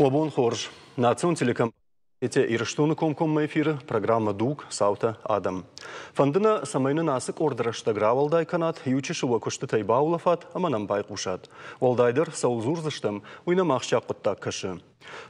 Уӕ бон хорз! Национ телекомпани Ирыстоны комкоммӕ эфиры программӕ «Дуг. Цаутӕ. Адӕм». Фӕнды нӕ, цӕмӕй нын ацы къорд рӕстӕг рауӕлдай кӕнат, иу чысыл уӕ куыстытӕй баулӕфат ӕмӕ нӕм байхъусат. Уӕлдайдӕр, цӕуыл дзурдзыстӕм, уый нӕм ахсджиаг хъуыддаг кӕсы.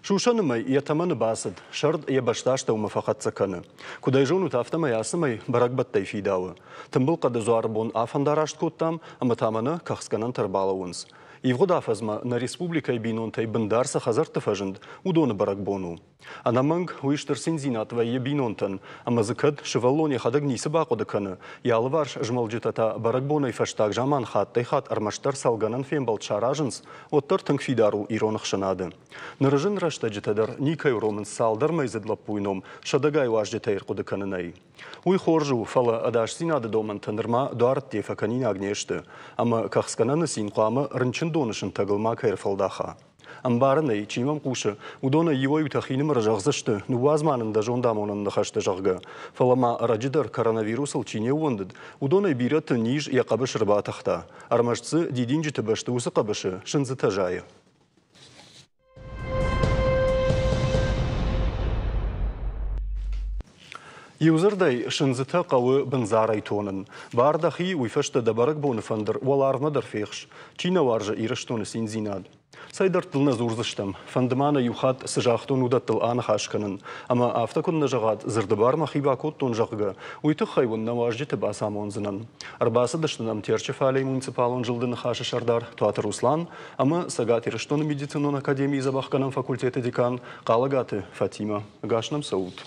Сусӕны мӕй йӕ тӕмӕны бацыд, сӕрд йӕ бӕстастӕумӕ фӕхӕццӕ кӕны. Куыд ӕй зонут, афтӕмӕй ацы мӕй бӕрӕгбӕттӕй фидауы. Тымбыл хъӕды дзуары бон афӕндараст кодтам ӕмӕ та мӕнӕ кӕхцгӕнӕнтӕ ӕрбалӕууынц. Ивгъуыд афӕдзмӕ нӕ республикӕйы бинонтӕй бындар цы хӕдзӕртты фӕзынд, уыдоны бӕрӕгбон у. Ӕнӕмӕнг, уый стыр циндзинад вӕййы бинонтӕн, ӕмӕ дзы кӕд сывӕллон йӕхӕдӕг ницы бахъуыды кӕны, йӕ алыварс змӕлджытӕ та бӕрӕгбонӕй фӕстаг заман хаттӕй-хатт ӕрмӕстдӕр цӕлгӕнӕн фембӕлд саразынц, уӕддӕр тынг фидар у ирон ӕхсӕнады. Ныры зын рӕстӕджытӕ дӕр никӕй уромынц цалдӕр мӕйдзыд лӕппуйы ном сӕдӕгай уазджытӕй ӕрхъуыды кӕнынӕй. Уый хорз у, фӕлӕ ӕдасдзинады домӕнтӕ нырма дуарӕдде фӕкӕнинаг не сты, ӕмӕ кӕхцгӕнӕны цин хъуамӕ рынчындоны сынтӕгыл макӕй ӕрфӕлдаха. Ӕмбарын ӕй, чи мӕм хъусы, уыдонӕй иуӕй-иутӕ хинымӕры зӕгъдзысты, ныууадз ма нын дӕ зондамонӕн ныхӕстӕ, зӕгъгӕ. Фӕлӕ ма ӕрӕджы дӕр коронавирусыл чи не ууӕндыд, уыдонӕй бирӕты низ йӕ хъӕбысы ӕрбатыхта. Ӕрмӕст дзы дидинджыты бӕсты уыцы хъӕбысы сындзытӕ зайы. Иудзырдӕй, сындзытӕ хъӕуы бындзарӕй тонын. Бар дӕхи, уый фӕстӕ дӕ бӕрӕгбоны фӕндыр уӕларвмӕ дӕр фехс. Чи нӕ уарзы Ирыстоны циндзинад? Цӕй дӕрдтыл нӕ дзурдзыстӕм. Фӕнды ма нӕ иу хатт цы загътон, уыдӕттыл аныхас кӕнын. Ӕмӕ афтӕ куыннӕ зӕгъат, дзырды бар мӕхи бакодтон, зӕгъгӕ, уый тыххӕй уын нӕ уазджыты бацамондзынӕн. Ӕрбацыдысты нӕм Терчы фалейы муниципалон зылды Ныхасы сӕрдар Туаты Руслан ӕмӕ Цӕгат Ирыстоны медицинон академийы дзӕбӕхгӕнӕн факультеты декан Хъалӕгаты Фатимӕ. Ӕгас нӕм цӕут.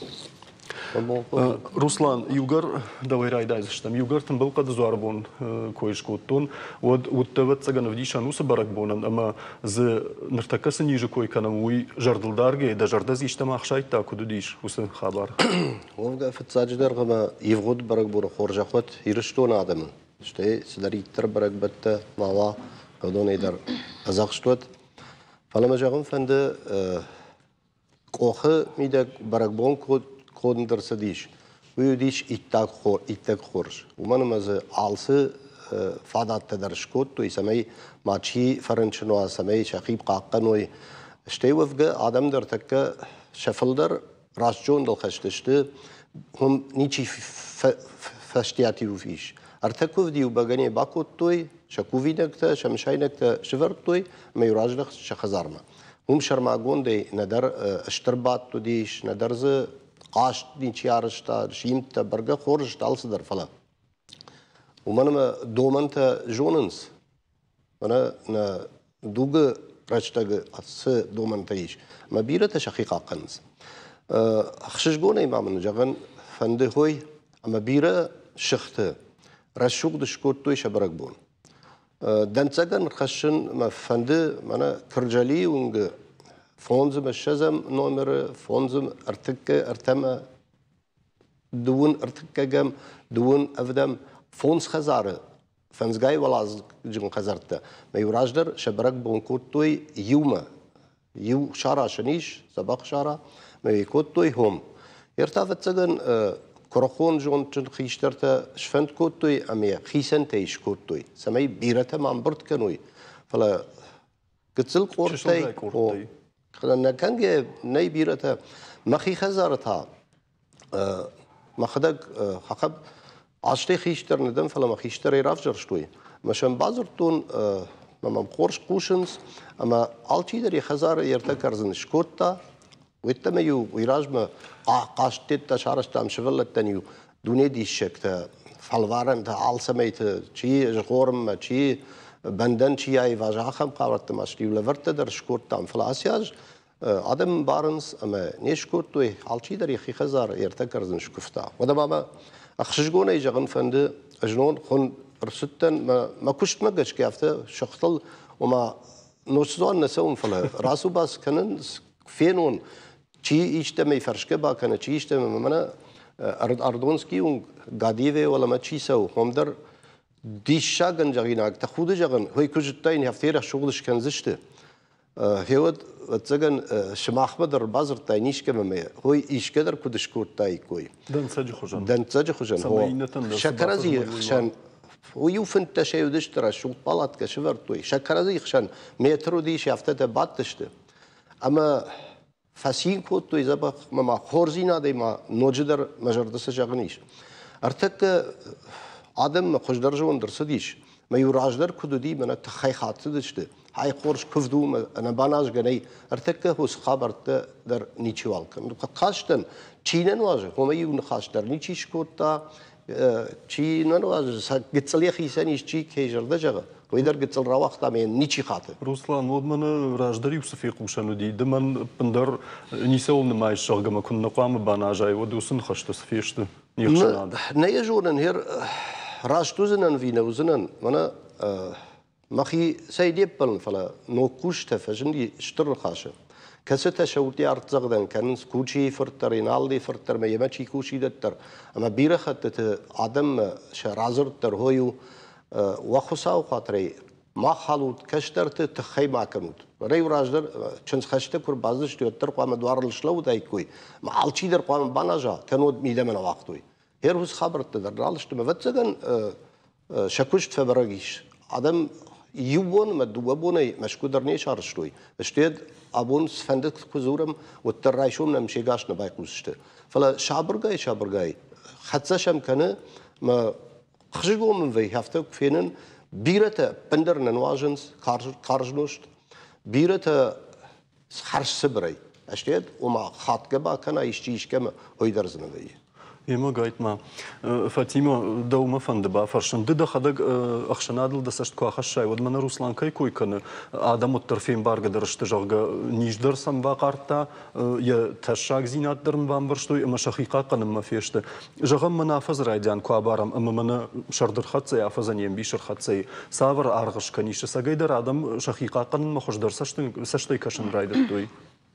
Руслан, иугӕр дӕуӕй райдайдзыстӕм, иугӕр тымбыл хъӕды дзуары бон кой скодтон, уӕд уыдтӕ, ӕвӕццӕгӕн, ӕвдисӕн уыцы бӕрӕгбонӕн ӕмӕ дзы ныртӕккӕ цы низы кой кӕнӕм, уый зӕрдылдаргӕйӕ дӕ зӕрдӕ дзы истӕмӕ ӕхсайдта, куыд уыдис уыцы хабар? Уӕвгӕ, фыццаджыдӕр ӕмӕ ивгъуыд бӕрӕгбоны хорзӕх уӕд Ирыстоны адӕмы, стӕй цыдӕриддӕр бӕрӕгбӕттӕ ма уа, уыдонӕй дӕр ӕдзӕхст уӕд. Фӕлӕ мӕ зӕгъын фӕнды, къохы мидӕг бӕрӕгбон конд ӕрцыдис, уый уыдис иттӕг хорз. Уымӕн ӕмӕ дзы алцы фадӕттӕ дӕр скодтой, цӕмӕй мачи фӕрынчын уа, цӕмӕй сӕхи хъахъхъӕной. Стӕй уӕвгӕ адӕм дӕр тӕккӕ сӕ фылдӕр раст зондыл хӕст сты, уым ничи фӕстиат-иу ис. Ӕртӕ куывд-иу бӕгӕны бакодтой, сӕ кувинӕгтӕ, сӕ мысайнӕгтӕ сывӕрдтой ӕмӕ-иу раздӕхт сӕ хӕдзармӕ. Уым сӕрмагондӕй нӕдӕр стыр бадт уыдис, нӕдӕр дзы хъазт ничи арӕзта, симдтӕ бӕргӕ хорз сты алцыдӕр, фӕлӕ уымӕн ӕмӕ домӕнтӕ зонынц, мӕнӕ нӕ дугы рӕстӕгы цы домӕнтӕ ис, ӕмӕ бирӕтӕ сӕхи хъахъхъӕнынц. Ӕхсызгонӕй ма мын зӕгъын фӕнды хой, ӕмӕ бирӕ сыхты рӕсугъд скодтой сӕ бӕрӕгбон. Дӕнцӕгӕн хӕссын мӕ фӕнды мӕнӕ Кырджалийы уынгы фондзымӕ ссӕдзӕм номеры фондзым ӕртыккӕ ӕртӕмӕ дыууын ӕртыккӕгӕм дыууын ӕвдӕм фондз хӕдзары фӕндзгай уӕладзыгджын хӕдзӕрттӕ мӕ иу раздӕр сӕ бӕрӕгбон кодтой иумӕ иу сара сын ис, дзӕбӕх сара, мӕ йӕ кодтой хом. Ӕртӕ ӕвӕццӕгӕн куырыхон зондджын хистӕртӕ сфӕнд кодтой ӕмӕ йӕ хицӕнтӕй скодтой, цӕмӕй бирӕтӕ ма ӕмбырд кӕной, фӕлӕ гыццыл къордтӕй, нӕ кӕнгӕ нӕй бирӕтӕ. Мӕхи хӕдзары та мӕхӕдӕг хахаб азтӕй хистӕр нӕ дӕн, фӕлӕ мӕ хистӕрӕй равзӕрстой. Мӕ сӕм бадзырдтон, мӕ мӕм хорз хъусынц, ӕмӕ алчидӕр йӕ хӕдзары йе ртӕ кӕрдзын скодта. Уеддӕмӕ-иу уый размӕ хъазттӕ сарӕзтам сывӕллӕттӕн-иу дуне диссӕгтӕ, фӕлварӕнтӕ алцӕмӕйты, чи згъорынмӕ, чи бӕндӕн чи аиваза, ахӕм хабӕртты ма иу лӕвӕрттӕ дӕр скодтам. Фӕлӕ ацы аз адӕм ӕмбарынц ӕмӕ не скодтой, алчидӕр йӕхи хӕдзар йе ртӕ кӕрдзын скуывта. Уӕдӕ ма мӕ ӕхсызгонӕй зӕгъын фӕнды, знон хуын ӕрцыдтӕн мӕ куыстмӕ гӕсгӕ афтӕ сыхтыл, ома нозтдзуан нӕ цӕуын, фӕлӕ рацу-бац кӕнын, фенон, чи истӕмӕй фӕрсгӕ бакӕны, чи истӕмӕй, мӕнӕ Ардонский уынг Гадиевӕй уӕлӕмӕ чи цӕуы, уым дӕр диссагӕн зӕгъинаг, тӕхуды зӕгъын, хой куы зыдтаин, афтӕ рӕсугъд скӕндзысты. Гъеуӕд, ӕвӕццӕгӕн, сымахмӕ дӕр бадзырдтай искӕмӕ мӕ, хой искӕ дӕр куыд скодтаиккой. Дӕнцӕджы хуызӕн. Дӕнцӕджы хуызӕн. Цӕмӕй иннӕтӕн дӕр сӕ кӕрӕдзийы хсӕн иу фынддӕсӕй уыдысты рӕсугъд палаткӕ сӕвӕрдтой. Сӕ кӕрӕдзийы хсӕн метр уыдис, афтӕтӕ бадтысты. Ӕмӕ фӕцин кодтой дзӕбӕх ӕмӕ ма хорздзинадӕй ма ноджыдӕр мӕ зӕрды цы зӕгъын ис. Ӕртӕккӕ адӕммӕ хуыздӕр зонд ӕрцыдис, мӕ иу раздӕр куыд уыди, мӕнӕ тыххӕй хӕцыдысты, ай хорз куывд у, ӕнӕбаназгӕ нӕй, ӕртӕккӕ уыцы хабӕрттӕ дӕр ничиуал кӕны. Кастӕн, чи нӕ нуазы, уымӕ иу ныхас дӕр ничи скодта, чи нӕ нуазы, сӕ гыццыл йӕхицӕн ис, чи кӕй зӕрдӕ зӕгъы, уый дӕр гыццыл рауагъта ӕмӕ йын ничи хаты. Руслан, уӕд мӕнӕ раздӕр-иу цы фехъусӕн уыди, ды мӕн ӕппындӕр ницӕуыл нымайыс, зӕгъгӕ мӕ куыннӕ хъуамӕ баназай, уӕд уыцы ныхӕстӕ цы фесты не хсӕнады? Нӕ йӕ зонын, хер раст уыдзынӕн ӕви нӕ уыдзынӕн, мӕнӕ мӕхи цӕй не ппӕлын, фӕлӕ ног кусджытӕ фӕзынди стыр ныхасы, кӕцытӕ сӕ удтӕ артдзӕгъдӕн кӕнынц Кучийы фырт дӕр, Еналдыйы фырт дӕр ӕмӕ йемӕ чи кусидӕт дӕр. Ӕмӕ бирӕ хӕттыты адӕммӕ сӕ радзырд дӕр хой у, уӕ Хуыцауы хатырӕй ма халут, кӕстӕрты тыххӕй ма кӕнут. Рӕй раздӕр чындзхӕсты куы рбацыдысты, уӕддӕр хъуамӕ дуарыл слӕууыдаиккой, ӕмӕ алчидӕр хъуамӕ баназа, кӕннод мидӕмӕ нӕ уагътой. Гъер уыцы хабӕрттӕ дӕр нал сты, ӕвӕццӕгӕн, сӕ куыст фӕбӕрӕг ис. Адӕм иу бон ӕмӕ дыууӕ бонӕй Мӕскуы дӕр не сарӕзтой. Стӕй абон цыфӕнды куы дзурӕм, уӕддӕр райсом нӕм се гас нӕ байхъусдзысты. Фӕлӕ сабыргай-сабыргай хӕццӕ сӕм кӕны мӕ хызыгон мын вӕййы, афтӕ куы фенын, бирӕтӕ ӕппындӕр нӕ нуазынц карз нозт, бирӕтӕ хӕрз цыбырӕй. Ӕстӕй ома хатгӕ бакӕна исчи искӕмӕ, уый дӕр дзы нӕ вӕййы. Ема гайтма, Фатима, дӕумӕ фӕнды бафӕрсын. Ды дӕхӕдӕг ӕхсӕнадыл дӕ цӕст куы ахӕссай, уӕд мӕнӕ Руслан кӕй кой кӕны, адӕм уӕддӕр фембаргӕдӕр сты, зӕгъгӕ, низ дӕр сӕм бахъардта, йӕ тӕссагдзинад дӕр ын бамбӕрстой ӕмӕ сӕхи хъахъхъӕнынмӕ фесты. Зӕгъӕм, мӕнӕ афӕдзы райдиан куы абарӕм ӕмӕ мӕнӕ сӕрды рхӕццӕ, афӕдзӕн йе мбис ӕрхӕццӕ, цавӕр аргъ скӕнис, ӕцӕгӕйдӕр адӕм сӕхи хъахъхъӕнынмӕ хуыздӕр цӕстӕй кӕсын райдыдтой?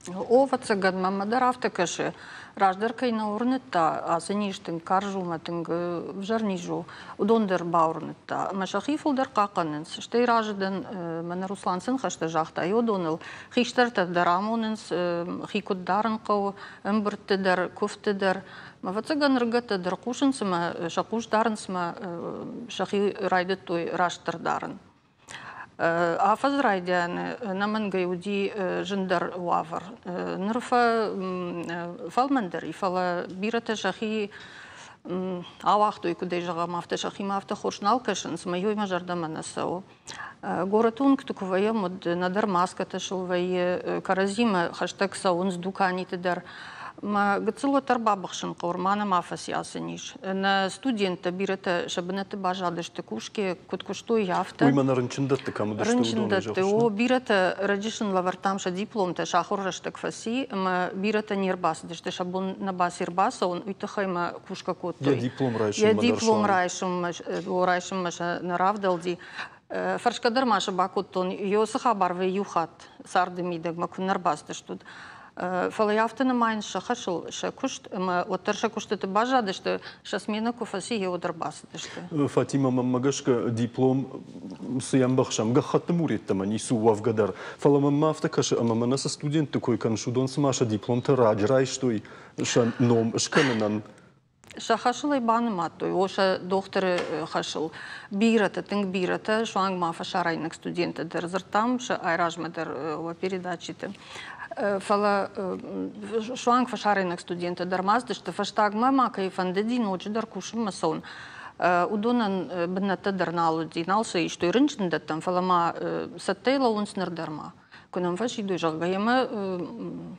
О, ӕвӕццӕгӕн, мӕнмӕ дӕр афтӕ кӕсы. Раздӕр кӕй нӕ уырныдта, ацы низ тынг карз у ӕмӕ тынг ӕвзӕр низ у, уыдон дӕр бауырныдта. Ӕмӕ сӕхи фылдӕр хъахъхъӕнынц. Стӕй разы дӕн, мӕнӕ Руслан цы ныхӕстӕ загъта, уыдоныл. Хистӕртӕ дӕр амонынц, хи куыд дарын хъӕуы, ӕмбырдты дӕр, куывдты дӕр. Ӕвӕццӕгӕн, ӕрыгӕттӕ дӕр хъусынц ӕмӕ сӕ хъус дарынц ӕмӕ сӕхи райдыдтой растдӕр дарын. Афӕдзы райдианы ӕнӕмӕнгӕй уыди зындӕр уавӕр. Ныр фӕлмӕндӕр и, фӕлӕ бирӕтӕ сӕхи ауагътой, куыдӕй зӕгъӕм, афтӕ сӕхимӕ афтӕ хорз нал кӕсынц, ӕмӕ уый мӕ зӕрдӕмӕ нӕ цӕуы. Горӕты уынгты куы вӕййӕм, уӕд нӕдӕр маскӕтӕ сыл вӕййы, кӕрӕдзимӕ хӕстӕг цӕуынц дуканиты дӕр. Мӕ гыццыл уӕддӕр бабыхсын хъӕуы, ма нӕма фӕци ацы низ. Нӕ студенттӕ бирӕтӕ сӕ бынӕтты баззадысты кусгӕ, куыд куыстой, афтӕ. Уый мӕнӕ рынчындӕтты кӕм уыдысты, Рынчындӕтты, о, бирӕтӕ раджы сын лӕвӕрдтам сӕ дипломтӕ, сӕ ахуыр рӕстӕг фӕци, ӕмӕ бирӕтӕ не рбацыдысты, сӕ бон нӕ баци ӕрбацӕуын, уый тыххӕй мӕ кусгӕ кодтой. Йӕ диплом райсынмӕ Йӕ диплом райсынмӕ, райсынмӕ сӕ нӕ равдӕлди. Фӕрсгӕ дӕр ма сӕ бакодтон, ё цы хабар вӕййы иу хатт царды мидӕгмӕ куы нӕ рбацыдыстут. Фӕлӕ афтӕ нымайынц сӕ хӕсыл, сӕ куыст, ӕмӕ уӕддӕр сӕ куыстыты баззадысты, сӕ сменӕ куы фӕци, уӕд ӕрбацыдысты. Фатимӕ, мӕнмӕ гӕсгӕ, диплом цы йӕ ӕмбӕхсӕм, гӕххӕтты мур йеддӕмӕ ницы у уӕвгӕ дӕр. Фӕлӕ мӕнмӕ афтӕ кӕсы, ӕмӕ мӕнӕ цы студентты кой кӕныс, уыдон цыма сӕ дипломтӕ раджы райстой сӕ ном скӕнынӕн. Сӕ хӕсыл ӕй банымадтой, о, сӕ дохтыры хӕсыл. Бирӕтӕ, тынг бирӕтӕ, суанг ма фӕсарӕйнаг студенттӕ дӕр дзырдтам сӕ айразмӕ дӕр уӕ передачиты. Фӕлӕ суанг фӕсарӕйнаг студенттӕ дӕр ма цыдысты, фӕстагмӕ ма кӕй фӕндыди ноджыдӕр кусынмӕ цӕуын, уыдонӕн бынӕттӕ дӕр нал уыди, нал сӕ истой рынчындӕттӕм, фӕлӕ ма цӕттӕй лӕууынц ныр дӕр ма. Куы нӕм фӕсидой, зӕгъгӕ, ӕмӕ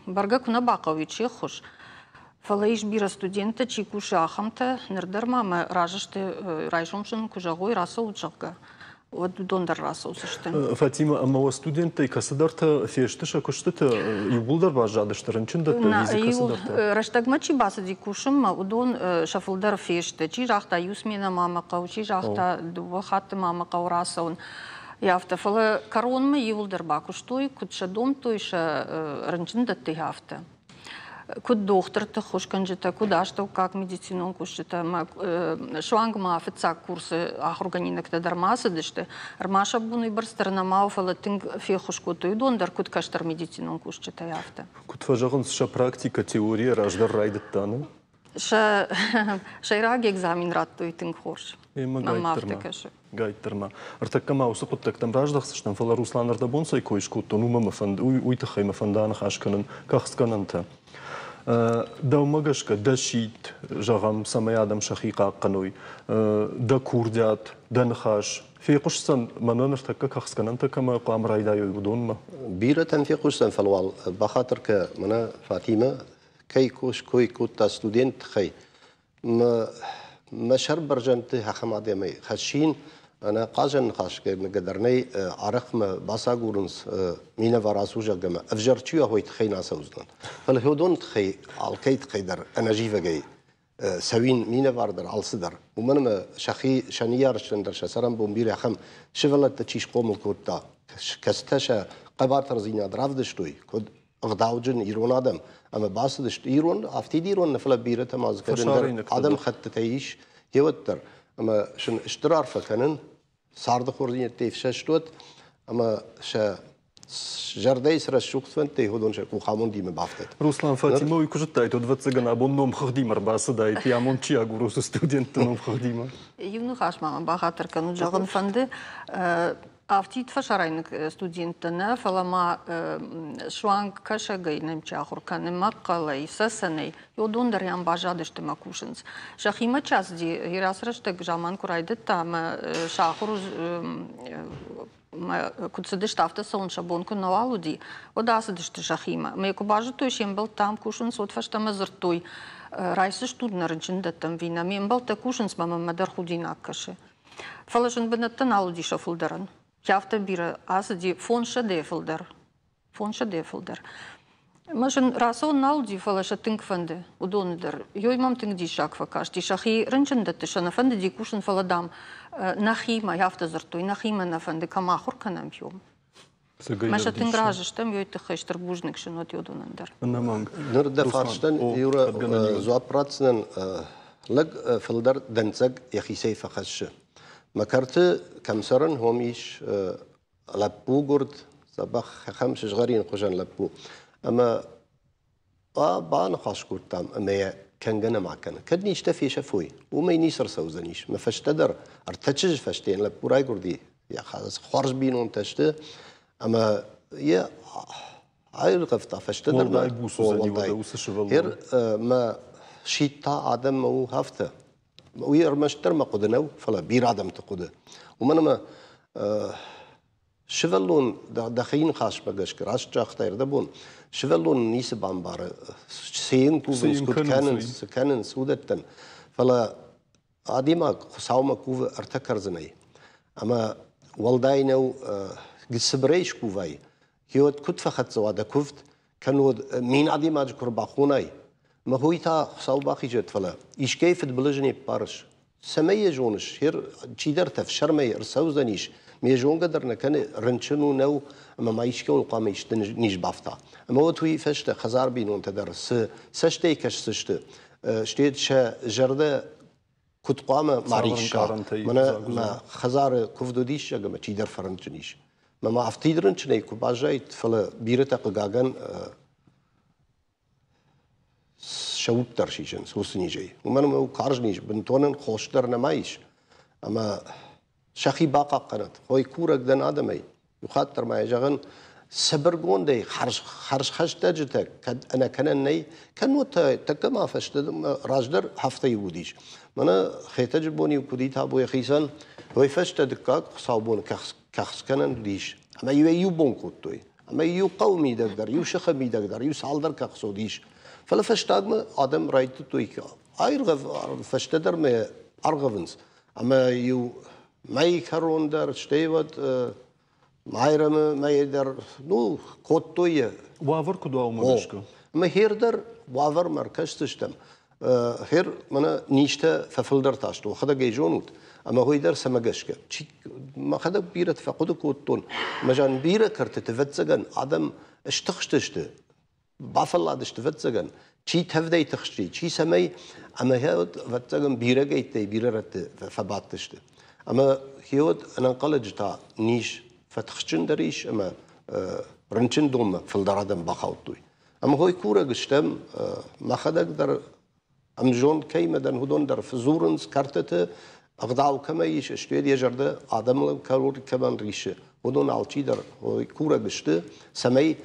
бӕргӕ куы нӕ бахъӕуид се ххуыс, Фӕлӕ ис бирӕ студенттӕ, чи кусы, ахӕмтӕ. Ныр дӕр ма мӕ разы сты, райсом сын куы зӕгъой, рацӕут, зӕгъгӕ, уӕд уыдон дӕр рацӕудзысты. Фатимӕ, ӕмӕ уӕ студенттӕй кӕцыдӕртӕ фесты сӕ куыстыты, иууылдӕр баззадысты рынчындӕтты ӕви дзы кӕцыдӕртӕ? Рӕстӕгмӕ чи бацыди кусынмӕ, уыдон сӕ фылдӕр фесты. Чи загъта, иу сменӕ ма мӕ хъӕуы, чи загъта, дыууӕ хатты ма мӕ хъӕуы рацӕуын. Афтӕ, фӕлӕ кӕронмӕ иууылдӕр бакуыстой, куыд сӕ домдтой сӕ рынчындӕтты, афтӕ. Куыд дохтырты ххуысгӕнджытӕ, куыд астӕуккаг медицинон кусджытӕ ӕмӕ суанг ма фыццаг курсы ахуыргӕнинӕгтӕ дӕр ма цыдысты. Ӕрмӕст сӕ бон уыйбӕрц дӕр нӕма у, фӕлӕ тынг феххуыс кодтой уыдон дӕр, куыд кӕстӕр медицинон кусджытӕй, афтӕ. Куыд фӕзӕгъынц, сӕ практикӕ теорийӕ раздӕр райдыдта, не? Сӕ сӕйраг экзамен радтой тынг хорз. Мӕнмӕ афтӕ кӕсы. Гайддӕр ма. Ӕртӕккӕ ма уыцы хъуыддӕгтӕм раздӕхдзыстӕм, фӕлӕ Руслан ӕрдӕбон цӕй кой скодтон, уымӕ мӕ фӕнд, уый тыххӕй мӕ фӕнды аныхас кӕнын кӕхцгӕнӕнтӕ. Дӕумӕ гӕсгӕ дӕ сидт, зӕгъӕм, цӕмӕй адӕм сӕхи хъахъхъӕной, дӕ курдиат, дӕ ныхас фехъуысдзӕн мӕнӕ ныртӕккӕ кӕхцгӕнӕнтӕ кӕмӕ хъуамӕ райдайой, уыдонмӕ? Бирӕтӕн фехъусдзӕн, фӕлӕ уал бахатыр кӕ, мӕнӕ Фатимӕ кӕй кой кодта студент тыххӕй, Мӕ сӕр бӕрзӕндты ахӕм адӕмӕй хӕссин, ӕнӕ хъазӕн ныхасгӕнӕг дӕр нӕй, арӕх мӕ бацагурынц минӕвар ацу, зӕгъгӕ мӕ ӕвзӕр чи уа, уой тыххӕй нӕ ацӕудзынӕн. Фӕлӕ уыдон тыххӕй, алкӕй тыххӕй дӕр ӕнӕзивӕгӕй цӕуин минӕвар дӕр, алцыдӕр. Уымӕн ӕмӕ сӕхи сӕ ныййарджытӕн дӕр сӕ цӕрӕнбон бирӕ ахӕм сывӕллӕттӕ чи схъомыл кодта, кӕцытӕ сӕ хъӕбатырдзинад равдыстой, куыд ӕгъдауджын ирон адӕм ӕмӕ бацыдысты ирон, афтид ирон нӕ, фӕлӕ бирӕтӕ ма дзы кӕд ӕндӕр адӕмхӕттытӕ ис, гъеуӕддӕр. Ӕмӕ сын стыр арфӕ кӕнын, царды хорздзинӕдтӕй ӕфсӕст уӕд ӕмӕ сӕ зӕрдӕйы цы рӕсугъд фӕндтӕй, уыдон сӕ къухамондимӕ бафтӕд. Руслан Фатимӕ уый куы зыдтаид, уӕд, ӕвӕццӕгӕн, абон номхыгъдимӕ ӕрбацыдаид, йӕ амонд чи агуры, уыцы студентты номхыгъдимӕ. Иу ныхас ма мӕ бахатыр кӕнут, зӕгъын фӕнды. Афтид фӕсарӕйнаг студенттӕ нӕ, фӕлӕ ма суанг кӕсӕгӕй нӕм чи ахуыр кӕны, мӕхъхъӕлӕй, цӕцӕнӕй, уыдон дӕр ӕм баззадысты мӕ кусынц. Сӕхимӕ чи ацыди, ацы рӕстӕг заман куы райдыдта ӕмӕ сӕ ахуыр куыд цыдысты, афтӕ цӕуын сӕ бон куы нӕуал уыди, уӕд ацыдысты сӕхимӕ. Мӕ куы базыдтой, се мбӕлттӕ ам кусынц, уӕд фӕстӕмӕ дзырдтой, райсдзыстут нӕ рынчындӕттӕм ви нӕ, ме мбӕлттӕ кусынц, мӕ мӕнмӕ дӕр худинаг кӕсы. Фӕлӕ зын бынӕттӕ нал уыди сӕ фылдӕрӕн. Афтӕ бирӕ ацыди 500-ӕй фылдӕр. 500-ӕй фылдӕр. Мӕ зын рацӕуын нал уыди, фӕлӕ сӕ тынг фӕнды уыдоны дӕр. Ёй мӕм тынг диссаг фӕкасти. Сӕхи рынчындӕтты сӕ нӕ фӕндыди кусын, фӕлӕ, дам, нӕхимӕ, афтӕ дзырдтой, нӕхимӕ нӕ фӕнды, кӕм ахуыр кӕнӕм, уым. Мӕ сӕ тынг разы стӕм, ёй тыххӕй стыр бузныг сын уӕд уыдонӕн дӕр. Ӕнӕмӕнг. Ныр дӕ фарстӕн, Юра, дзуапп ратдзынӕн. Лӕг фылдӕр дӕнцӕг йӕхицӕй фӕхӕссы. Мӕ кӕрты кӕм цӕрын, уым ис лӕппугуырд, дзӕбӕх ахӕм сызгъӕрин хуызӕн лӕппу. Ӕмӕ баныхас кодтам ӕмӕ йӕ кӕнгӕ нӕма кӕны. Кӕд низтӕ фесӕфой, уымӕй ницы ӕрцӕудзӕнис. Мӕ фӕстӕдӕр ӕртӕ чызджы фӕсте йын лӕппу райгуырди, йӕ хорз бинонтӕ сты, ӕмӕ йӕ аиргъӕвта фӕстӕдӕр. Уӕлдай буц уыдзӕни уӕдӕ уыцы сывӕллон. Ер мӕ сидт та адӕммӕ у афтӕ. Уый ӕрмӕстдӕр мӕ хъуыды нӕу, фӕлӕ бирӕ адӕмты хъуыды. Уымӕн ӕмӕ Сывӕллон дӕхи ныхасмӕ гӕсгӕ раст загътай ӕрдӕбон, сывӕллон ницы бамбары, цы йын кувынц, куыд кӕнынц, цы кӕнынц, уыдӕттӕн. Фӕлӕ адӕймаг Хуыцаумӕ кувы ӕртӕ кӕрдзынӕй. Ӕмӕ уӕлдай нӕу цыбырӕй скувай, гъеуӕд куыд фӕхӕццӕ уа дӕ куывд, кӕннод мин адӕймаджы куы рбахонай, мӕ хой та Хуыцау бахизӕд, фӕлӕ искӕй фыдбылызы не ппарыс. Цӕмӕй йӕ зоныс, чидӕртӕ ӕфсӕрмӕй ӕрцӕудзӕнис, ме зонгӕ дӕр нӕ кӕны, рынчын у, нӕу, ӕмӕ ма искӕуыл хъуамӕ исты низ бафта. Ӕмӕ уӕд уый фӕстӕ хӕдзар бинонтӕ дӕр цы цӕстӕй кӕсдзысты, стӕй сӕ зӕрдӕ куыд хъуамӕ ма рисса. Мӕнӕ мӕ хӕдзары куывд уыдис, ӕмӕ чидӕр фӕрынчын ис. Мӕ ма афтид рынчынӕй куы баззаид, фӕлӕ бирӕтӕ хъыгагӕн сӕ уд дӕр сисынц уыцы низӕй. Уымӕн ӕмӕ у карз низ, бынтон ын хос дӕр нӕма ис. Ӕмӕ сӕхи бахъахъхъӕнӕт. Хой курӕг дӕн адӕмӕй. Иу хатт дӕр ма йӕ зӕгъын, цыбыргондӕй хӕрзхӕстӕджытӕ кӕд ӕнӕкӕнӕн нӕй, кӕннод та тӕккӕ ма фӕстӕ раздӕр афтӕ-иу уыдис. Мӕнӕ Хетӕджы бон-иу куыд и табу йӕхицӕн, уый фӕстӕ дыккаг хуыцаубоны кӕхцгӕнӕн уыдис. Ӕмӕ-иу ӕй иу бон кодтой. Ӕмӕ иу хъӕуы мидӕг дӕр, иу сыхы мидӕг дӕр, иу цалдӕр кӕхц уыдис. Фӕлӕ фӕстагмӕ адӕм райдыдтой аиргъӕв, фӕстӕдӕр мӕ аргъӕвынц. Ӕмӕ иу мӕйы кӕрон дӕр, стӕй уӕд Майрӕмы мӕйы дӕр, ну, кодтой йӕ. Уавӕр куыд уа, уымӕ гӕсгӕ? Ӕмӕ хер дӕр уавӕрмӕ ӕркӕсдзыстӕм. Хер мӕнӕ низтӕ фӕфылдӕр та сты, уӕхӕдӕг ӕй зонут. Ӕмӕ уый дӕр цӕмӕ гӕсгӕ? Мӕхӕдӕг бирӕ фӕхъуыды кодтон, мӕ зан бирӕ кӕртыты, ӕвӕццӕгӕн, адӕм стыхстысты, бафӕлладысты, ӕвӕццӕгӕн, чи тӕвдӕй тыхсти, чи цӕмӕй, ӕмӕ хеуӕд, ӕвӕццӕгӕн, бирӕгӕйттӕй бирӕ рӕтты фӕбадтысты. Ӕмӕ хеуӕд ӕнӕнхъӕлӕджы та низ фӕтыхджындӕр ис ӕмӕ рынчындонмӕ фылдӕр адӕм бахаудтой. Ӕмӕ хой курӕг стӕм, мӕхӕдӕг дӕр ӕмзонд кӕимӕ дӕн, уыдон дӕр фӕдзурынц кӕртыты. Ӕгъдау кӕмӕ ис, стӕй йӕ зӕрдӕ адӕмыл кӕмӕн рисы, уыдон алчидӕр курӕг сты, цӕмӕй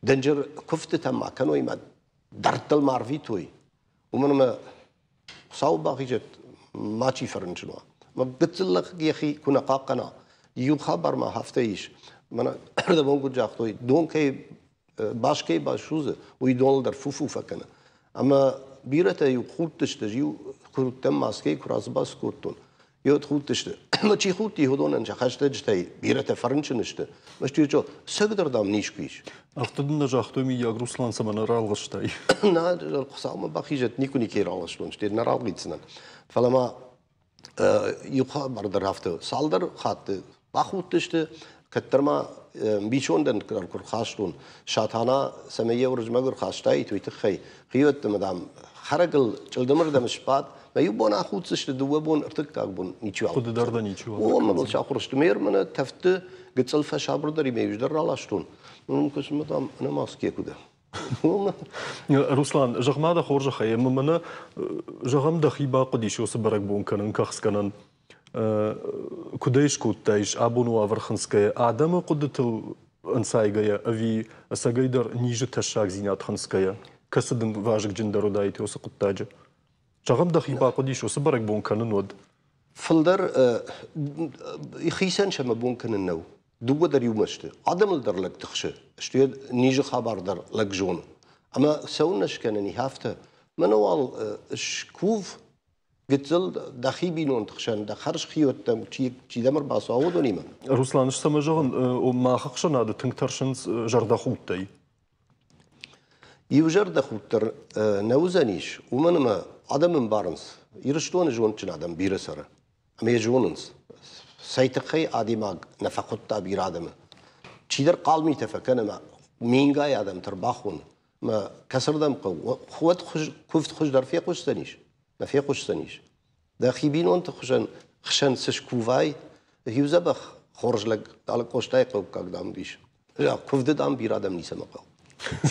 дынджыр куывдтытӕ ма кӕной ӕмӕ дӕрдтыл ма рвитой. Уымӕн ӕмӕ Хуыцауы бахизӕд, мачи фӕрынчын уа. Мӕ гыццыл лӕг йӕхи куы нӕ хъахъхъӕна, иу хабар ма афтӕ ис. Мӕнӕ ӕрдӕбон куыд загътой, дон кӕй бас кӕй басудзы, уый доныл дӕр фу-фу фӕкӕны. Ӕмӕ бирӕтӕ-иу худтысты, иу куы уыдтӕн маскӕйы куы рацыбац кодтон, йод худтысты. Ӕмӕ чи худти, уыдонӕн сӕ хӕстӕджытӕй бирӕтӕ фӕрынчын сты. Мӕ цӕгдӕр, дам, низ куы ис. Афтӕ дын нӕ загътой, мыййаг, Руслан, цӕмӕн ралгъыстай? Нӕ, Хуыцаумӕ бахизӕд, никуы никӕй ралгъыстон, стӕй нӕ ралгъитдзынӕн. Фӕлӕ ма иу хабар дӕр афтӕ цалдӕр хатты бахудтысты, кӕддӕр ма мбисондӕн куы рхастон, Сатана цӕмӕй йӕ Уырызмӕг ӕрхастаид, уый тыххӕй хиуӕтты мӕ, дам, хӕрӕгыл чъылдымырдӕм сбад, мӕ иу бон ахуддзысты, дыууӕ бон, ӕртыккаг бон ничиуал. Хъуыды дӕр дӕ ничиуал. О, мӕ мыл сахуыр сты. Ме рмӕнӕ тӕфты гыццыл фӕсабырдӕр и, ме иу дӕр раластон. Ну, куысмӕ, дам, ӕнӕ маскӕ куы дӕ. Руслан, зӕгъ-ма дӕ хорзӕхӕй, ӕмӕ мӕнӕ, зӕгъӕм, дӕхи бахъуыдис уыцы бӕрӕгбон кӕнын, кӕхцгӕнӕн. Куыдӕй скодтаис абоны уавӕр хынцгӕйӕ, адӕмы хъуыдытыл ӕнцайгӕйӕ ӕви ӕцӕгӕйдӕр низы тӕссагдзинад хынцгӕйӕ, кӕцы дын вазыгджындӕр уыдаид уыцы хъуыддаджы? Зӕгъӕм, дӕхи бахъуыдис уыцы бӕрӕгбон кӕнын, уӕд? Фылдӕр хицӕн сӕ мӕ бон кӕнын нӕу. Дыууӕ дӕр иумӕ сты. Адӕмыл дӕр лӕг тыхсы, стӕй низы хабар дӕр лӕг зоны. Ӕмӕ цӕуылнӕ скӕнӕн и афтӕ? Мӕнӕ уал скув, гыццыл дӕхи бинонты хсӕн, дӕ хӕрз хиуӕттӕм чидӕм ӕрбацӕуа, уыдонимӕ. Руслан, ӕз цӕмӕ зӕгъын, мах ӕхсӕнады тынг тӕрсынц зӕрдӕхудтӕй. Иу зӕрдӕхудт дӕр нӕ уыдзӕнис, уымӕн ӕмӕ адӕм ӕмбарынц, Ирыстоны зондджын адӕм бирӕ цӕры. Ӕмӕ йӕ зонынц, цӕй тыххӕй адӕймаг нӕ фӕхуыдта бирӕ адӕмы. Чидӕр хъал митӕ фӕкӕны ӕмӕ мингай адӕмты ӕрбахоны. Ӕмӕ кӕцырдӕм хъӕуы, уӕд куывд хуыздӕр фехъуысдзӕнис? Нӕ фехъуысдзӕнис. Дӕхи бинонты хуызӕн хсӕн цы скувай, иу дзӕбӕх хорз лӕг Алы Къостайы хъӕуккаг, дам, уыдис. Куывды, дам, бирӕ адӕм ницӕмӕ хъӕуы.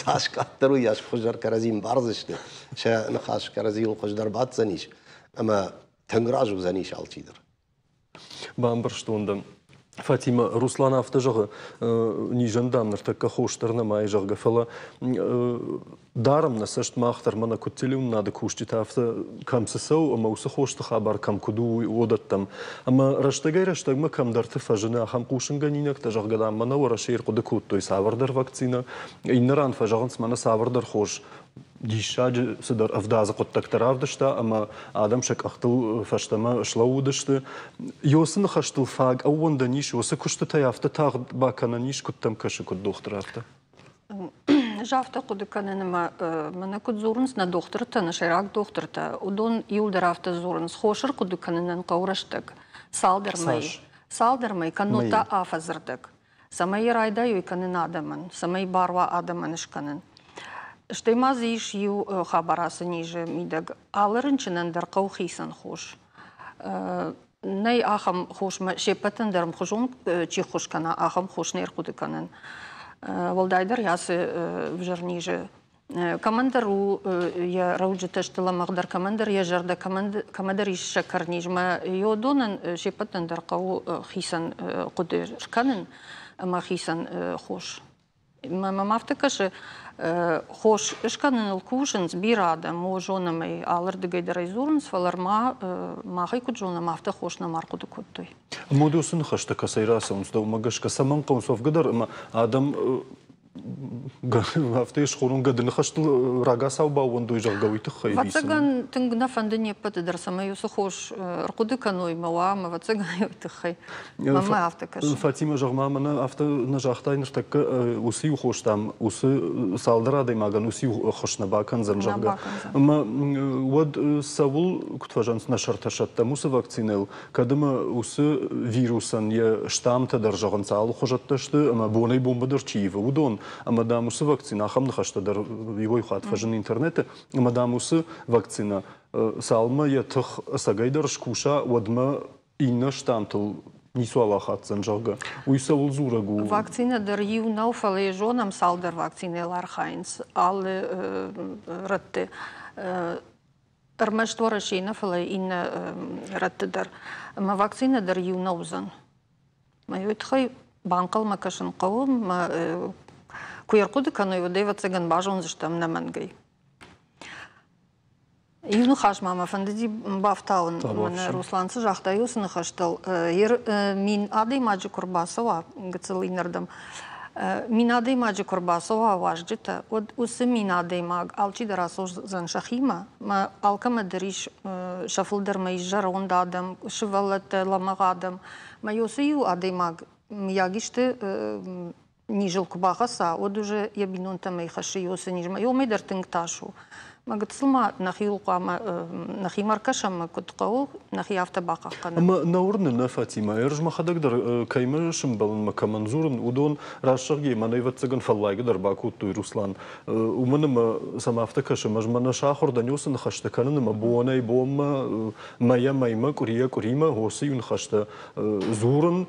Цас къаддӕр, уыйас хуыздӕр кӕрӕдзи мбардзысты, сӕ ныхас кӕрӕдзийыл хуыздӕр баддзӕнис, ӕмӕ тынг разы уыдзӕнис алчидӕр. Бамбӕрстон дӕ. Фатимӕ, Руслан афтӕ зӕгъы, низӕн, дам, ныртӕккӕ хос дӕр нӕма и, зӕгъгӕ, фӕлӕ дарӕм нӕ цӕст мах дӕр, мӕнӕ куыд телеуынынады кусджытӕ, афтӕ кӕм цы цӕуы ӕмӕ уыцы хосты хабар кӕм куыд у, уыдӕттӕм. Ӕмӕ рӕстӕгӕй-рӕстӕгмӕ кӕмдӕрты фӕзыны ахӕм хъусынгӕнинӕгтӕ, зӕгъгӕ, дам, мӕнӕ Уӕрӕсейы ӕрхъуыды кодтой цавӕрдӕр вакцинӕ, иннӕ ран фӕзӕгъынц, мӕнӕ цавӕрдӕр хос диссаджы цыдӕр ӕвдадзы хъуыддӕгтӕ равдыста ӕмӕ адӕм сӕ къӕхтыл фӕстӕмӕ слӕууыдысты. Уыцы ныхӕстыл фаг ӕууӕндӕн ис, уыцы куыстытӕй афтӕ тагъд бакӕнӕн ис, куыд дӕм кӕсы, куыд дохтыр, афтӕ? Ӕз афтӕ хъуыды кӕнын, ӕмӕ мӕнӕ куыд дзурынц нӕ дохтыртӕ, нӕ сӕйраг дохтыртӕ, уыдон иуылдӕр афтӕ дзурынц, хос ӕрхъуыды кӕнынӕн хъӕуы рӕстӕг, цалдӕр мӕй. Цалдӕр мӕй, кӕннод та афӕдзы рдӕг. Цӕмӕй йӕ райдайой кӕнын адӕмӕн, цӕмӕй бар уа адӕмӕн скӕнын. Стӕй ма дзы ис иу хабар ацы низы мидӕг. Алы рынчынӕн дӕр хъӕуы хицӕн хос. Нӕй ахӕм хосмӕ се ппӕтӕн дӕр ӕмхуызон чи ххуыс кӕна, ахӕм хос не рхъуыды кӕнын. Уӕлдайдӕр ацы ӕвзӕр низы кӕмӕндӕр у йӕ рӕуджытӕ сты лӕмӕгъдӕр, кӕмӕндӕр йӕ зӕрдӕ, кӕмӕдӕр ис сӕкӕрнизмӕ. Йодонӕн се ппӕтӕн дӕр хъӕуы хицӕн хъуыды скӕнын ӕмӕ хицӕн хос. Мӕм афтӕ кӕсы, хос скӕныныл кусынц бирӕ адӕм, о, зонӕм ӕй, алырдыгӕй дӕр ӕй дзурынц, фӕлӕ ма мах ӕй куыд зонӕм, афтӕ хос нӕма ӕрхъуыды кодтой. Ӕмӕ уыцы ныхӕстӕ кӕцӕй рацӕуынц, дӕумӕ гӕсгӕ цӕмӕн хъӕуынц уӕвгӕ дӕр ӕмӕ адӕм афтӕ схонон гӕды ныхӕстыл рагацау баууӕндой, зӕгъгӕ, уый тыххӕй? Ӕвӕццӕгӕн, тынг нӕ фӕнды не ппӕты дӕр, цӕмӕй уыцы хос ӕрхъуыды кӕной мӕ уа, ӕмӕ ӕвӕццӕгӕн, уый тыххӕй. Мӕнмӕ афтӕ кӕсы. Фатимӕ, зӕгъ-ма, мӕнӕ афтӕ нӕ загътай ныртӕккӕ, уыцы иу хос, дам, уыцы цалдӕр адӕймагӕн уыцы иу ӕххуыс нӕ бакӕндзӕн, зӕгъгӕ. Ӕмӕ уӕд цӕуыл, куыд фӕзӕгъынц, нӕ сӕртӕ сӕттӕм уыцы вакцинӕйыл, кӕд ӕмӕ уыцы вирусӕн йӕ штаммтӕ дӕр зӕгъынц алыхуызӕттӕ сты ӕмӕ бонӕй-бонмӕ дӕр чи ивы, уыдон, ӕмӕ, дам, уыцы вакцинӕ, ахӕм ныхӕстӕ дӕр иуӕй хатт фӕзыны интернеты, ӕмӕ, дам, уыцы вакцинӕ цалынмӕ йӕ тых ӕцӕгӕйдӕр скуса, уӕдмӕ иннӕ штаммтыл ницуал ахаддзӕн, зӕгъгӕ. Уый цӕуыл дзурӕг у? Вакцинӕ дӕр иу нӕу, фӕлӕ йӕ зонӕм, цалдӕр вакцинӕйыл архайынц алы рӕтты. Ӕрмӕст Уӕрӕсейы нӕ, фӕлӕ иннӕ рӕтты дӕр. Ӕмӕ вакцинӕ дӕр иу нӕ уыдзӕн. Мӕ уый тыххӕй банхъӕлмӕ кӕсын хъӕуы. Мӕ куы ӕрхъуыды кӕной, уӕд ӕвӕццӕгӕн базондзыстӕм нӕмӕнгӕй. Иу ныхас ма мӕ фӕндыди бафтауын. Мӕнӕ Руслан цы загъта, уыцы ныхӕстыл. 1000 адӕймаджы куы рбацӕуа гыццыл иннӕрдӕм, 1000 адӕймаджы куы рбацӕуа уазджытӕ, уӕд уыцы 1000 адӕймаг алчидӕр ацӕудзӕн сӕхимӕ. Мӕ алкӕмӕ дӕр ис, сӕ фылдӕрмӕ ис зӕронд адӕм, сывӕллӕттӕ, лӕмӕгъ адӕм. Мӕ уыцы иу адӕймаг, мыййаг исты низыл куы бахӕца, уӕд уже йӕ бинонтӕм ӕй хӕссы уыцы низмӕ. Уымӕй дӕр тынг тас у. Мӕ гыццыл ма нӕхиуыл хъуамӕ нӕхимӕ ӕркӕсӕм, куыд хъӕуы, нӕхи афтӕ бахъахъхъӕнӕм. Ӕмӕ нӕ уырны нӕ, Фатимӕ, ӕз мӕхӕдӕг дӕр кӕимӕ сымбӕлын мӕ кӕмӕн дзурын, уыдон раст зӕгъгӕ, мӕнӕ ӕвӕццӕгӕн фӕллайгӕ дӕр бакодтой, Руслан. Уымӕн ӕмӕ сӕм афтӕ кӕсы, ӕз мӕнӕ сахуыр дӕн уыцы ныхӕстӕ кӕнын ӕмӕ бонӕй-бонмӕ, мӕйӕ-мӕймӕ, къуырийӕ-къуыримӕ уыцы иу ныхӕстӕ дзурын,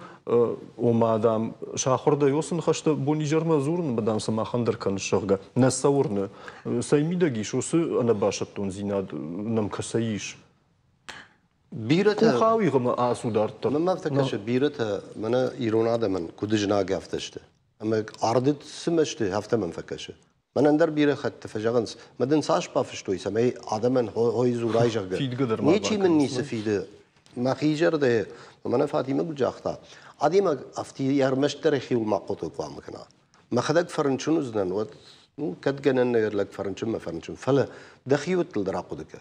ома, дам, сахуыр дӕ уыцы ныхӕстӕ бон-изӕрмӕ дзурын, ӕмӕ, дам, сӕ махӕн дӕр кӕныс, зӕгъгӕ. Нӕ сӕ уырны. Цӕй мидӕг ис уыцы ӕнӕбасӕттондзинад нӕм кӕцӕй ис? Бирӕтӕ Къухауигъ ӕмӕ ацу дарддӕр. Мӕнмӕ афтӕ кӕсы, бирӕтӕ мӕнӕ ирон адӕмӕн куыд знаг афтӕ сты. Ӕмӕ ардыд цы мӕсты, афтӕ мӕм фӕкӕсы. Мӕнӕн дӕр бирӕ хӕтты фӕзӕгъынц, мӕ дын цас бафыстой, цӕмӕй адӕмӕн хой дзурай, зӕгъгӕ. Фидгӕ дӕр ма Ничи мын ницы фиды. Мӕхи зӕрдӕ, мӕнӕ Фатимӕ куыд загъта, адӕймаг афтӕ ӕрмӕстдӕр йӕхиуыл ма хъуыды хъуамӕ кӕна. Мӕхӕдӕг фӕрынчын уыдзынӕн, уӕд ну, кӕд гӕнӕн нӕ лӕг фӕрынчынмӕ фӕрынчын, фӕлӕ дӕхиуӕттыл дӕр ахъуыды кӕ.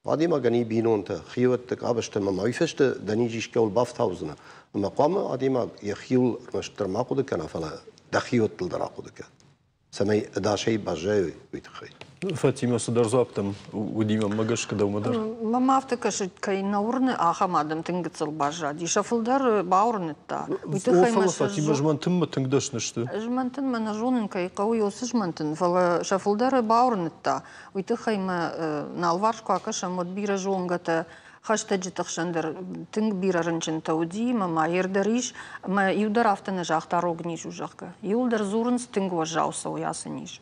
Адӕймагӕн и бинонтӕ, хиуӕтты къабӕзтӕ ӕмӕ ма уый фӕстӕ дӕ низ искӕуыл бафтаудзынӕ. Ӕмӕ хъуамӕ адӕймаг йӕхиуыл ӕрмӕстдӕр ма хъуыды кӕна, фӕлӕ дӕхиуӕттыл дӕр ахъуыды кӕ, цӕмӕй ӕдасӕй баззайой, уый тыххӕй. Фатимӕ, цыдӕр дзуапп дӕм уыди мӕнмӕ гӕсгӕ дӕумӕ дӕр? Мӕм афтӕ кӕсы, кӕй нӕ уырны, ахӕм адӕм тынг гыццыл баззади. Сӕ фылдӕр бауырныдта. Уый тыххӕй мӕ Фатимӕ, змӕнтынмӕ тынг дӕсны сты. Змӕнтынмӕ нӕ зонын, кӕй хъӕуы уыцы змӕнтын, фӕлӕ сӕ фылдӕры бауырныдта. Уый тыххӕй мӕ нӕ алыварс куы акӕсӕм, уӕд бирӕ зонгӕтӕ, хӕстӕджыты хсӕн дӕр тынг бирӕ рынчынтӕ уыди, ӕмӕ ма йер дӕр ис, ӕмӕ иу дӕр афтӕ нӕ загъта, рог низ у, зӕгъгӕ. Иуылдӕр дзурынц, тынг уӕззау цӕуы ацы низ.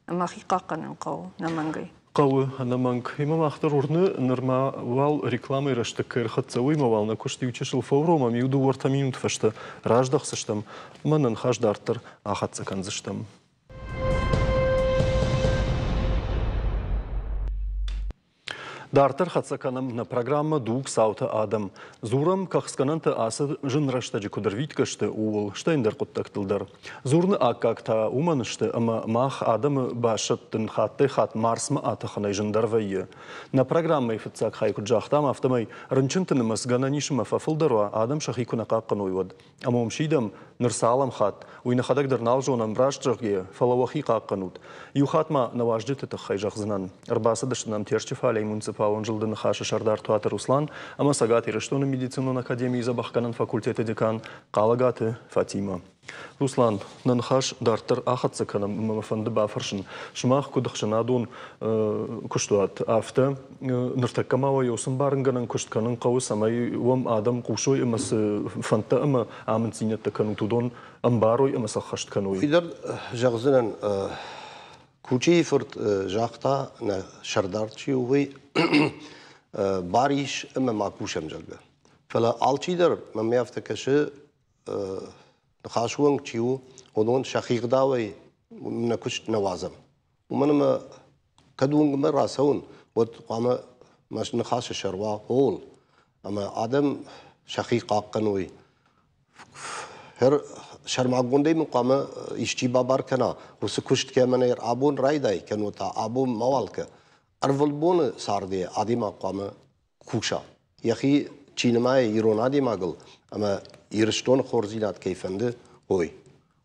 Ӕмӕ хи хъахъхъӕнын хъӕуы ӕнӕмӕнгӕй. Хъӕуы ӕнӕмӕнг. Ӕмӕ мах дӕр уырны, нырма уал рекламӕйы рӕстӕг кӕй ӕрхӕццӕ, уый ма уал нӕ куыст иу чысыл фӕуромӕм, иу дыууӕ-ӕртӕ минуты фӕстӕ раздӕхдзыстӕм ӕмӕ нӕ ныхас дарддӕр ахӕццӕ кӕндзыстӕм. Дарддӕр хӕццӕ кӕнӕм нӕ программӕ «Дуг цаутӕ адӕм». Дзурӕм, кӕхцгӕнӕнтӕ ацы зын рӕстӕджы куыд ӕрвитгӕ сты, ууыл, стӕй ӕндӕр хъуыддӕгтыл дӕр. Дзурыны аккаг та уымӕн сты, ӕмӕ мах адӕмы басӕттын хаттӕй-хатт Марсмӕ атӕхынӕй зындӕр вӕййы. Нӕ программӕйы фыццаг хай куыд загътам, афтӕмӕй рынчынты нымӕц гӕнӕн ис ӕмӕ фӕфылдӕр уа, адӕм сӕхи куы нӕ хъахъхъӕной, уӕд. Ӕмӕ уым сидӕм, ныр цалӕм хатт, уый нӕхӕдӕг дӕр нал зонӕм, раст зӕгъгӕйӕ, фӕлӕ уӕхи хъахъхъӕнут. Иу хатт ма нӕ уазджыты тыххӕй зӕгъдзынӕн. Ӕрбацыдысты нӕм Терчы фалейы муниципалон зылды Ныхасы сӕрдар Туаты Руслан ӕмӕ Цӕгат Ирыстоны медицинон академийы дзӕбӕхгӕнӕн факультеты декан Хъалӕгаты Фатимӕ. Руслан, нӕ ныхас дарддӕр ахӕццӕ кӕнӕм ӕмӕ мӕ фӕнды бафӕрсын, сымах куыд ӕхсӕнадон куыстуат, афтӕ ныртӕккӕ ма уӕ цы ӕмбарынгӕнӕн куыст кӕнын хъӕуы, цӕмӕй уӕм адӕм хъусой ӕмӕ цы фӕндтӕ ӕмӕ амынддзинӕдтӕ кӕнут, уыдон ӕмбарой ӕмӕ сӕ ӕххӕст кӕной? Фидар зӕгъдзынӕн, Кучийы фырт загъта, нӕ сӕрдар чи у, уый бар ис ӕмӕ ма кусӕм, зӕгъгӕ. Фӕлӕ алчидӕр мӕм афтӕ кӕсы, ныхасы уӕнг чи у, уыдон сӕхи гъдауӕй нӕ куыст нӕ уадзӕм. Уымӕн ӕмӕ кӕд уынгмӕ рацӕуын, уӕд хъуамӕ мӕ ныхасы сӕр уа ууыл, ӕмӕ адӕм сӕхи хъахъхъӕной. Сӕрмагондӕй мын хъуамӕ исчи бабар кӕна, уыцы куыст кӕмӕн абон райдай, кӕннод та абон мауал кӕ. Ӕрвылбоны царды адӕймаг хъуамӕ куса. Йӕхи чи нымайы ирон адӕймагыл ӕмӕ Ирыстоны хорздзинад кӕй фӕнды, уый.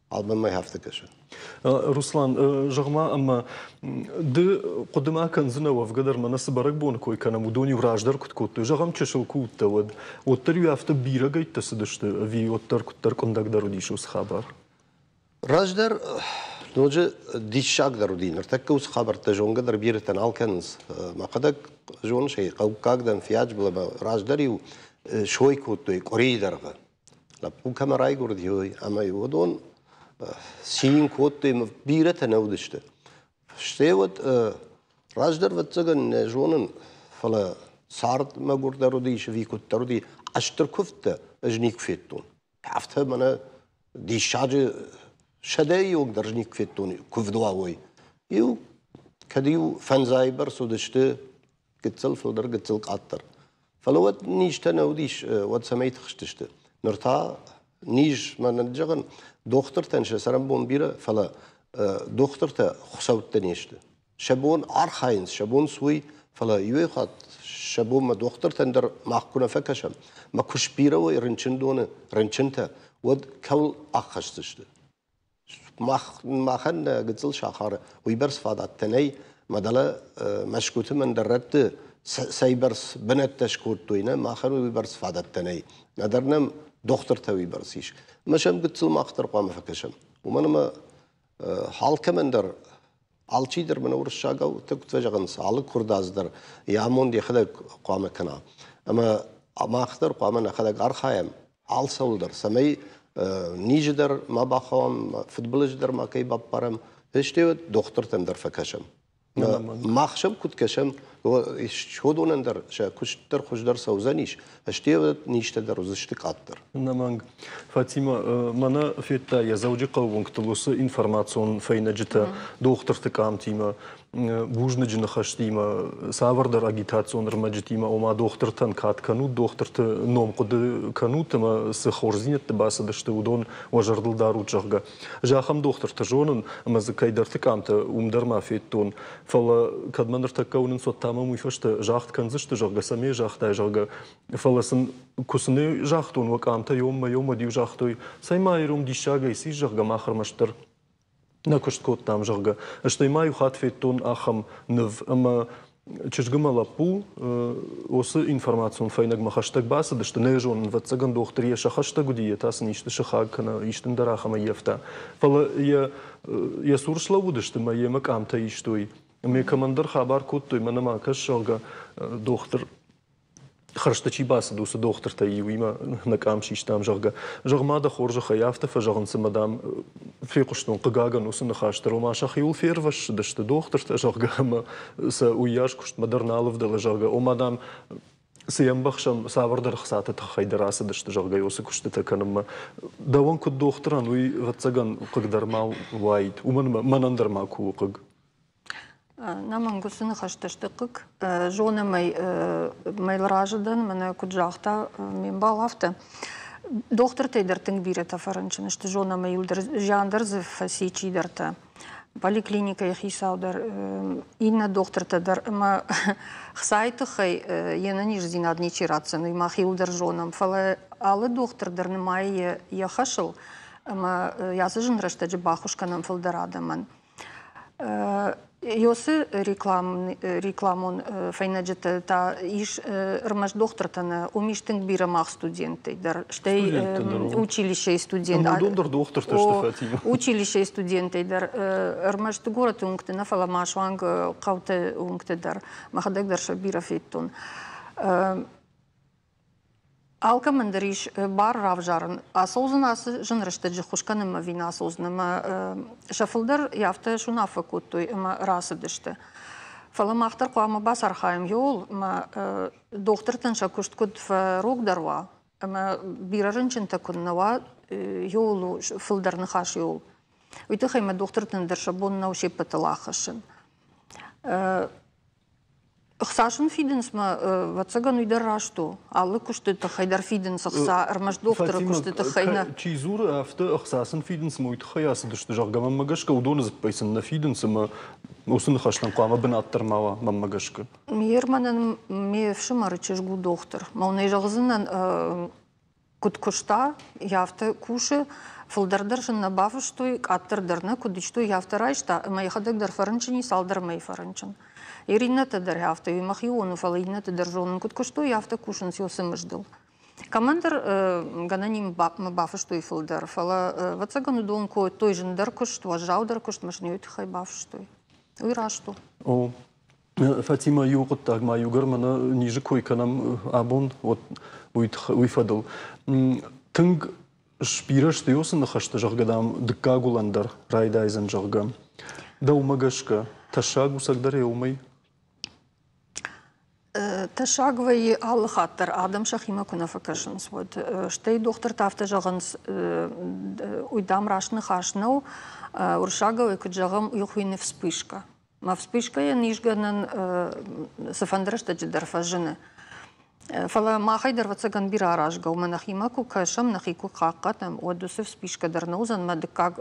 Албанмӕ афтӕ кӕсы. Руслан, зӕгъ-ма, ӕмӕ ды хъуыды ма кӕндзынӕ, уӕвгӕ дӕр мӕнӕ цы бӕрӕгбоны кой кӕнӕм, уыдон-иу раздӕр куыд кодтой? Зӕгъӕм, чысыл куы уыдтӕ, уӕд уӕддӕр-иу афтӕ бирӕгӕйттӕ цыдысты ӕви уӕддӕр куыддӕр къуындӕгдӕр уыдис уыцы хабар? Раздӕр ноджы диссагдӕр уыди. Ныртӕккӕ уыцы хабӕрттӕ зонгӕ дӕр бирӕтӕ нал кӕнынц. Мӕхӕдӕг зоныс ӕй, хъӕуккаг дӕн, фиаджбыл ӕмӕ раздӕр-иу сой кодтой къуырийы дӕргъы. Лӕппу кӕмӕ райгуырди, уый ӕмӕ уыдон цин кодтой, бирӕтӕ нӕ уыдысты. Стӕй уӕд Раздӕр, ӕвӕццӕгӕн, нӕ зонын, фӕлӕ цард мӕгуырдӕр уыдис ӕви куыддӕр уыди, стыр куывдтӕ ӕз никуы федтон. Афтӕ мӕнӕ диссаджы сӕдӕйы онг дӕр никуы федтон куывд уа, уой. Иу кӕд-иу фӕндзайы бӕрц уыдысты, гыццыл фылдӕр, гыццыл къаддӕр. Фӕлӕ уӕд низтӕ нӕ уыдис, уӕд цӕмӕй тыхстысты. Ныр та низ, мӕнӕн зӕгъын, дохтыртӕн сӕ цӕрӕнбон бирӕ, фӕлӕ дохтыртӕ хуыцӕуттӕ не сты. Сӕ бон архайынц, сӕ бон суый, фӕлӕ иуӕй хатт сӕ бонмӕ дохтыртӕн дӕр мах куы нӕ фӕкӕсӕм, мӕ куы сбирӕ уой рынчындоны рынчынтӕ, уӕд кӕуыл аххӕсдзысты? Махӕн нӕ гыццыл сахары уыйбӕрц фадӕттӕ нӕй, мӕ дӕлӕ Мӕскуыты мӕндӕр рӕтты цӕйбӕрц бынӕттӕ скодтой, нӕ махӕн уыйбӕрц фадӕттӕ нӕй. Нӕдӕр нӕм дохтыртӕ уыйбӕрц ис. Ӕмӕ сӕм гыццыл мах дӕр хъуамӕ фӕкӕсӕм. Уымӕн ӕмӕ алкӕмӕн дӕр алчидӕр мӕнӕ уырыссагау куыд фӕзӕгъынц, алы куырдадз дӕр йӕ амонд йӕхӕдӕг хъуамӕ кӕна. Ӕмӕ мах дӕр хъуамӕ нӕхӕдӕг архайӕм алцӕуыл дӕр, цӕмӕй низы дӕр ма бахауӕм, фыдбылызы дӕр ма кӕй баппарӕм, стӕй дохтыртӕм дӕр фӕкӕсӕм. Мах сӕм куыд кӕсӕм, уыдонӕн дӕр сӕ куыст дӕр хуыздӕр цӕудзӕнис, стӕй низтӕ дӕр уыдзысты къаддӕр. Ӕнӕмӕнг. Фатимӕ, мӕнӕ федта йӕ Дзӕуджыхъӕуы уынгтыл уыцы информацион фӕйнӕджытӕ дохтырты къамтимӕ, бузныджы ныхӕстимӕ, цавӕрдӕр агитацион ӕрмӕджытимӕ, ома дохтыртӕн кад кӕнут, дохтырты ном хъуыды кӕнут ӕмӕ цы хорздзинӕдты бацыдысты, уыдон уӕ зӕрдыл дарут, зӕгъгӕ. Ӕз ахӕм дохтырты зонын, ӕмӕ дзы кӕйдӕрты къамтӕ уым дӕр ма федтон. Фӕлӕ кӕд мӕ ныртӕккӕ уынынц, уӕд та мӕм уый фӕстӕ загъд кӕндзысты, зӕгъгӕ, цӕмӕй загътай, зӕгъгӕ. Фӕлӕ сын куы сын загътон, уӕ къамтӕ иумӕ иумӕ-иу загътой, цӕй ма ирон диссагӕй сис, зӕгъгӕ, мах ӕрмӕстдӕр нӕ куыст кодтам, зӕгъгӕ. Стӕй ма иу хатт федтон ахӕм ныв, ӕмӕ чызг ӕмӕ лӕппу уыцы информацион фӕйнӕгмӕ хӕстӕг бацыдысты, нӕ зонын, ӕвӕццӕгӕн, дохтыр йӕ сӕ хӕстӕг уыди, йе та сын исты сыхаг кӕнӕ исты ӕндӕр ахӕм ӕййӕфта. Фӕлӕ йӕ цур слӕууыдысты ӕмӕ йемӕ къамтӕ истой. Ӕмӕ кӕмӕндӕр хабар кодтой, мӕнӕ ма кӕс, зӕгъгӕ, дохтыр хӕрзты чи бацыд, уыцы дохтыртӕй иуимӕ нӕ къам систам, зӕгъгӕ. Зӕгъ ма дӕ хорзӕхӕй, афтӕ фӕзӕгъынц ӕмӕ, дам, фехъуыстон, хъыгагӕн, уыцы ныхас дӕр, ома сӕхиуыл фервӕссыдысты дохтыртӕ, зӕгъгӕ, ӕмӕ сӕ уыйас куыстмӕ дӕр нал ӕвдӕлы, зӕгъгӕ. Ома, дам, цы йӕ ӕмбӕхсӕм, цавӕрдӕр ӕхцаты тыххӕй дӕр ацыдысты, зӕгъгӕ, уыцы куыстытӕ кӕнынмӕ. Дӕуӕн куыд дохтырӕн, уый, ӕвӕццӕгӕн, хъыг дӕр ма уаид. Уымӕн мӕнӕн дӕр ма куы у хъыг. Нӕмӕнг уыцы ныхӕстӕ сты хъыг. Зонӕм ӕй, мӕ разы дӕн, мӕнӕ куыд загъта ме мбал, афтӕ. Дохтыртӕй дӕр тынг бирӕтӕ фӕрынчын сты, зонӕм ӕй, иуылдӕр зиан дӕр дзы фӕци чидӕртӕ. Поликлиникӕйы хицау дӕр, иннӕ дохтыртӕ дӕр ӕмӕ хцайы тыххӕй йе нӕниздзинад ничи ратдзӕн, уый мах иуылдӕр зонӕм. Фӕлӕ алы дохтыр дӕр нымайы йӕ хӕсыл ӕмӕ ацы зын рӕстӕджы баххуыс кӕнӕм фылдӕр адӕмӕн. Ёсы рекламон фӕйнӕджытӕ та ис ӕрмӕст дохтыртӕ нӕ, уым ис тынг бирӕ мах студенттӕй дӕр, стӕй училищейы студент. Уыдон дӕр дохтыртӕ сты, Фатимӕ. Училищейы студенттӕй дӕр ӕрмӕст горӕты уынгты нӕ, фӕлӕ ма суанг хъӕуты уынгты дӕр. Мӕхӕдӕг дӕр сӕ бирӕ федтон. Алкӕмӕн дӕр ис бар равзарын, ацӕудзӕн ацы зын рӕстӕджы ххуыс кӕнынмӕ ӕви нӕ ацӕудзӕн, ӕмӕ сӕ фылдӕр афтӕ суынаффӕ кодтой ӕмӕ рацыдысты. Фӕлӕ мах дӕр хъуамӕ бацархайӕм иуыл, ӕмӕ дохтыртӕн сӕ куыст куыд фӕрогдӕр уа, ӕмӕ бирӕ рынчынтӕ куыд нӕ уа, иуыл у фылдӕр ныхас иуыл. Уый тыххӕй мӕ дохтыртӕн дӕр сӕ бон нӕу се ппӕтыл аххӕссын. Ӕхца сын фидынц мӕ, ӕвӕццӕгӕн, уый дӕр раст у. Алы куысты тыххӕй дӕр фидынц ӕхца, ӕрмӕст дохтыры куысты тыххӕй нӕ. Чи дзуры, афтӕ ӕхца сын фидынц ӕмӕ уый тыххӕй ацыдысты, зӕгъгӕ, мӕнмӕ гӕсгӕ, уыдоны дзыппӕй сын нӕ фидынц ӕмӕ уыцы ныхӕстӕн хъуамӕ бынат дӕр ма уа, мӕнмӕ гӕсгӕ. Ме рмӕнӕн ме фсымӕры чызг у дохтыр. Мӕ уын ӕй зӕгъдзынӕн, куыд куыста, афтӕ кусы. Фылдӕр дӕр сын нӕ бафыстой, къаддӕр дӕр нӕ куыд истой, афтӕ райста, ӕмӕ йӕхӕдӕг дӕр фӕрынчын и, цалдӕр мӕйы фӕрынчын. Ир иннӕтӕ дӕр афтӕ, уый мӕхион у, фӕлӕ иннӕты дӕр зонын, куыд куыстой, афтӕ кусынц уыцы мыздыл. Кӕмӕндӕр гӕнӕн мӕ бафыстой фылдӕр, фӕлӕ, ӕвӕццӕгӕн, уыдон кодтой зындӕр куыст, уӕззаудӕр куыст, ӕмӕ сын уый тыххӕй бафыстой. Уый раст у. О, Фатимӕ, иу хъуыддаг ма иугӕр мӕнӕ низы кой кӕнӕм абон, уый фӕдыл. Тынг сбирӕ сты уыцы ныхӕстӕ, зӕгъгӕ, дам, дыккаг уылӕн дӕр райдайдзӕн, зӕгъгӕ. Дӕумӕ гӕсгӕ, тӕссаг у цӕгдӕр уымӕй? Тӕссаг вӕййы алы хатт дӕр, адӕм сӕхимӕ куы нӕ фӕкӕсынц, уӕд. Стӕй дохтыртӕ афтӕ зӕгъынц, уый, дам, раст ныхас нӕу. Уырыссагау куыд зӕгъӕм, уый хуыйны вспышка. Мӕ вспышкӕйӕн исгӕнӕн цыфӕнды рӕстӕджы дӕр фӕзыны. Фӕлӕ махӕй дӕр, ӕвӕццӕгӕн, бирӕ аразгӕ у. Мӕ нӕхимӕ куы кӕсӕм, нӕхи куы хъахъхъӕнӕм, уӕд уыцы вспышка дӕр нӕ уыдзӕн, мӕ дыккаг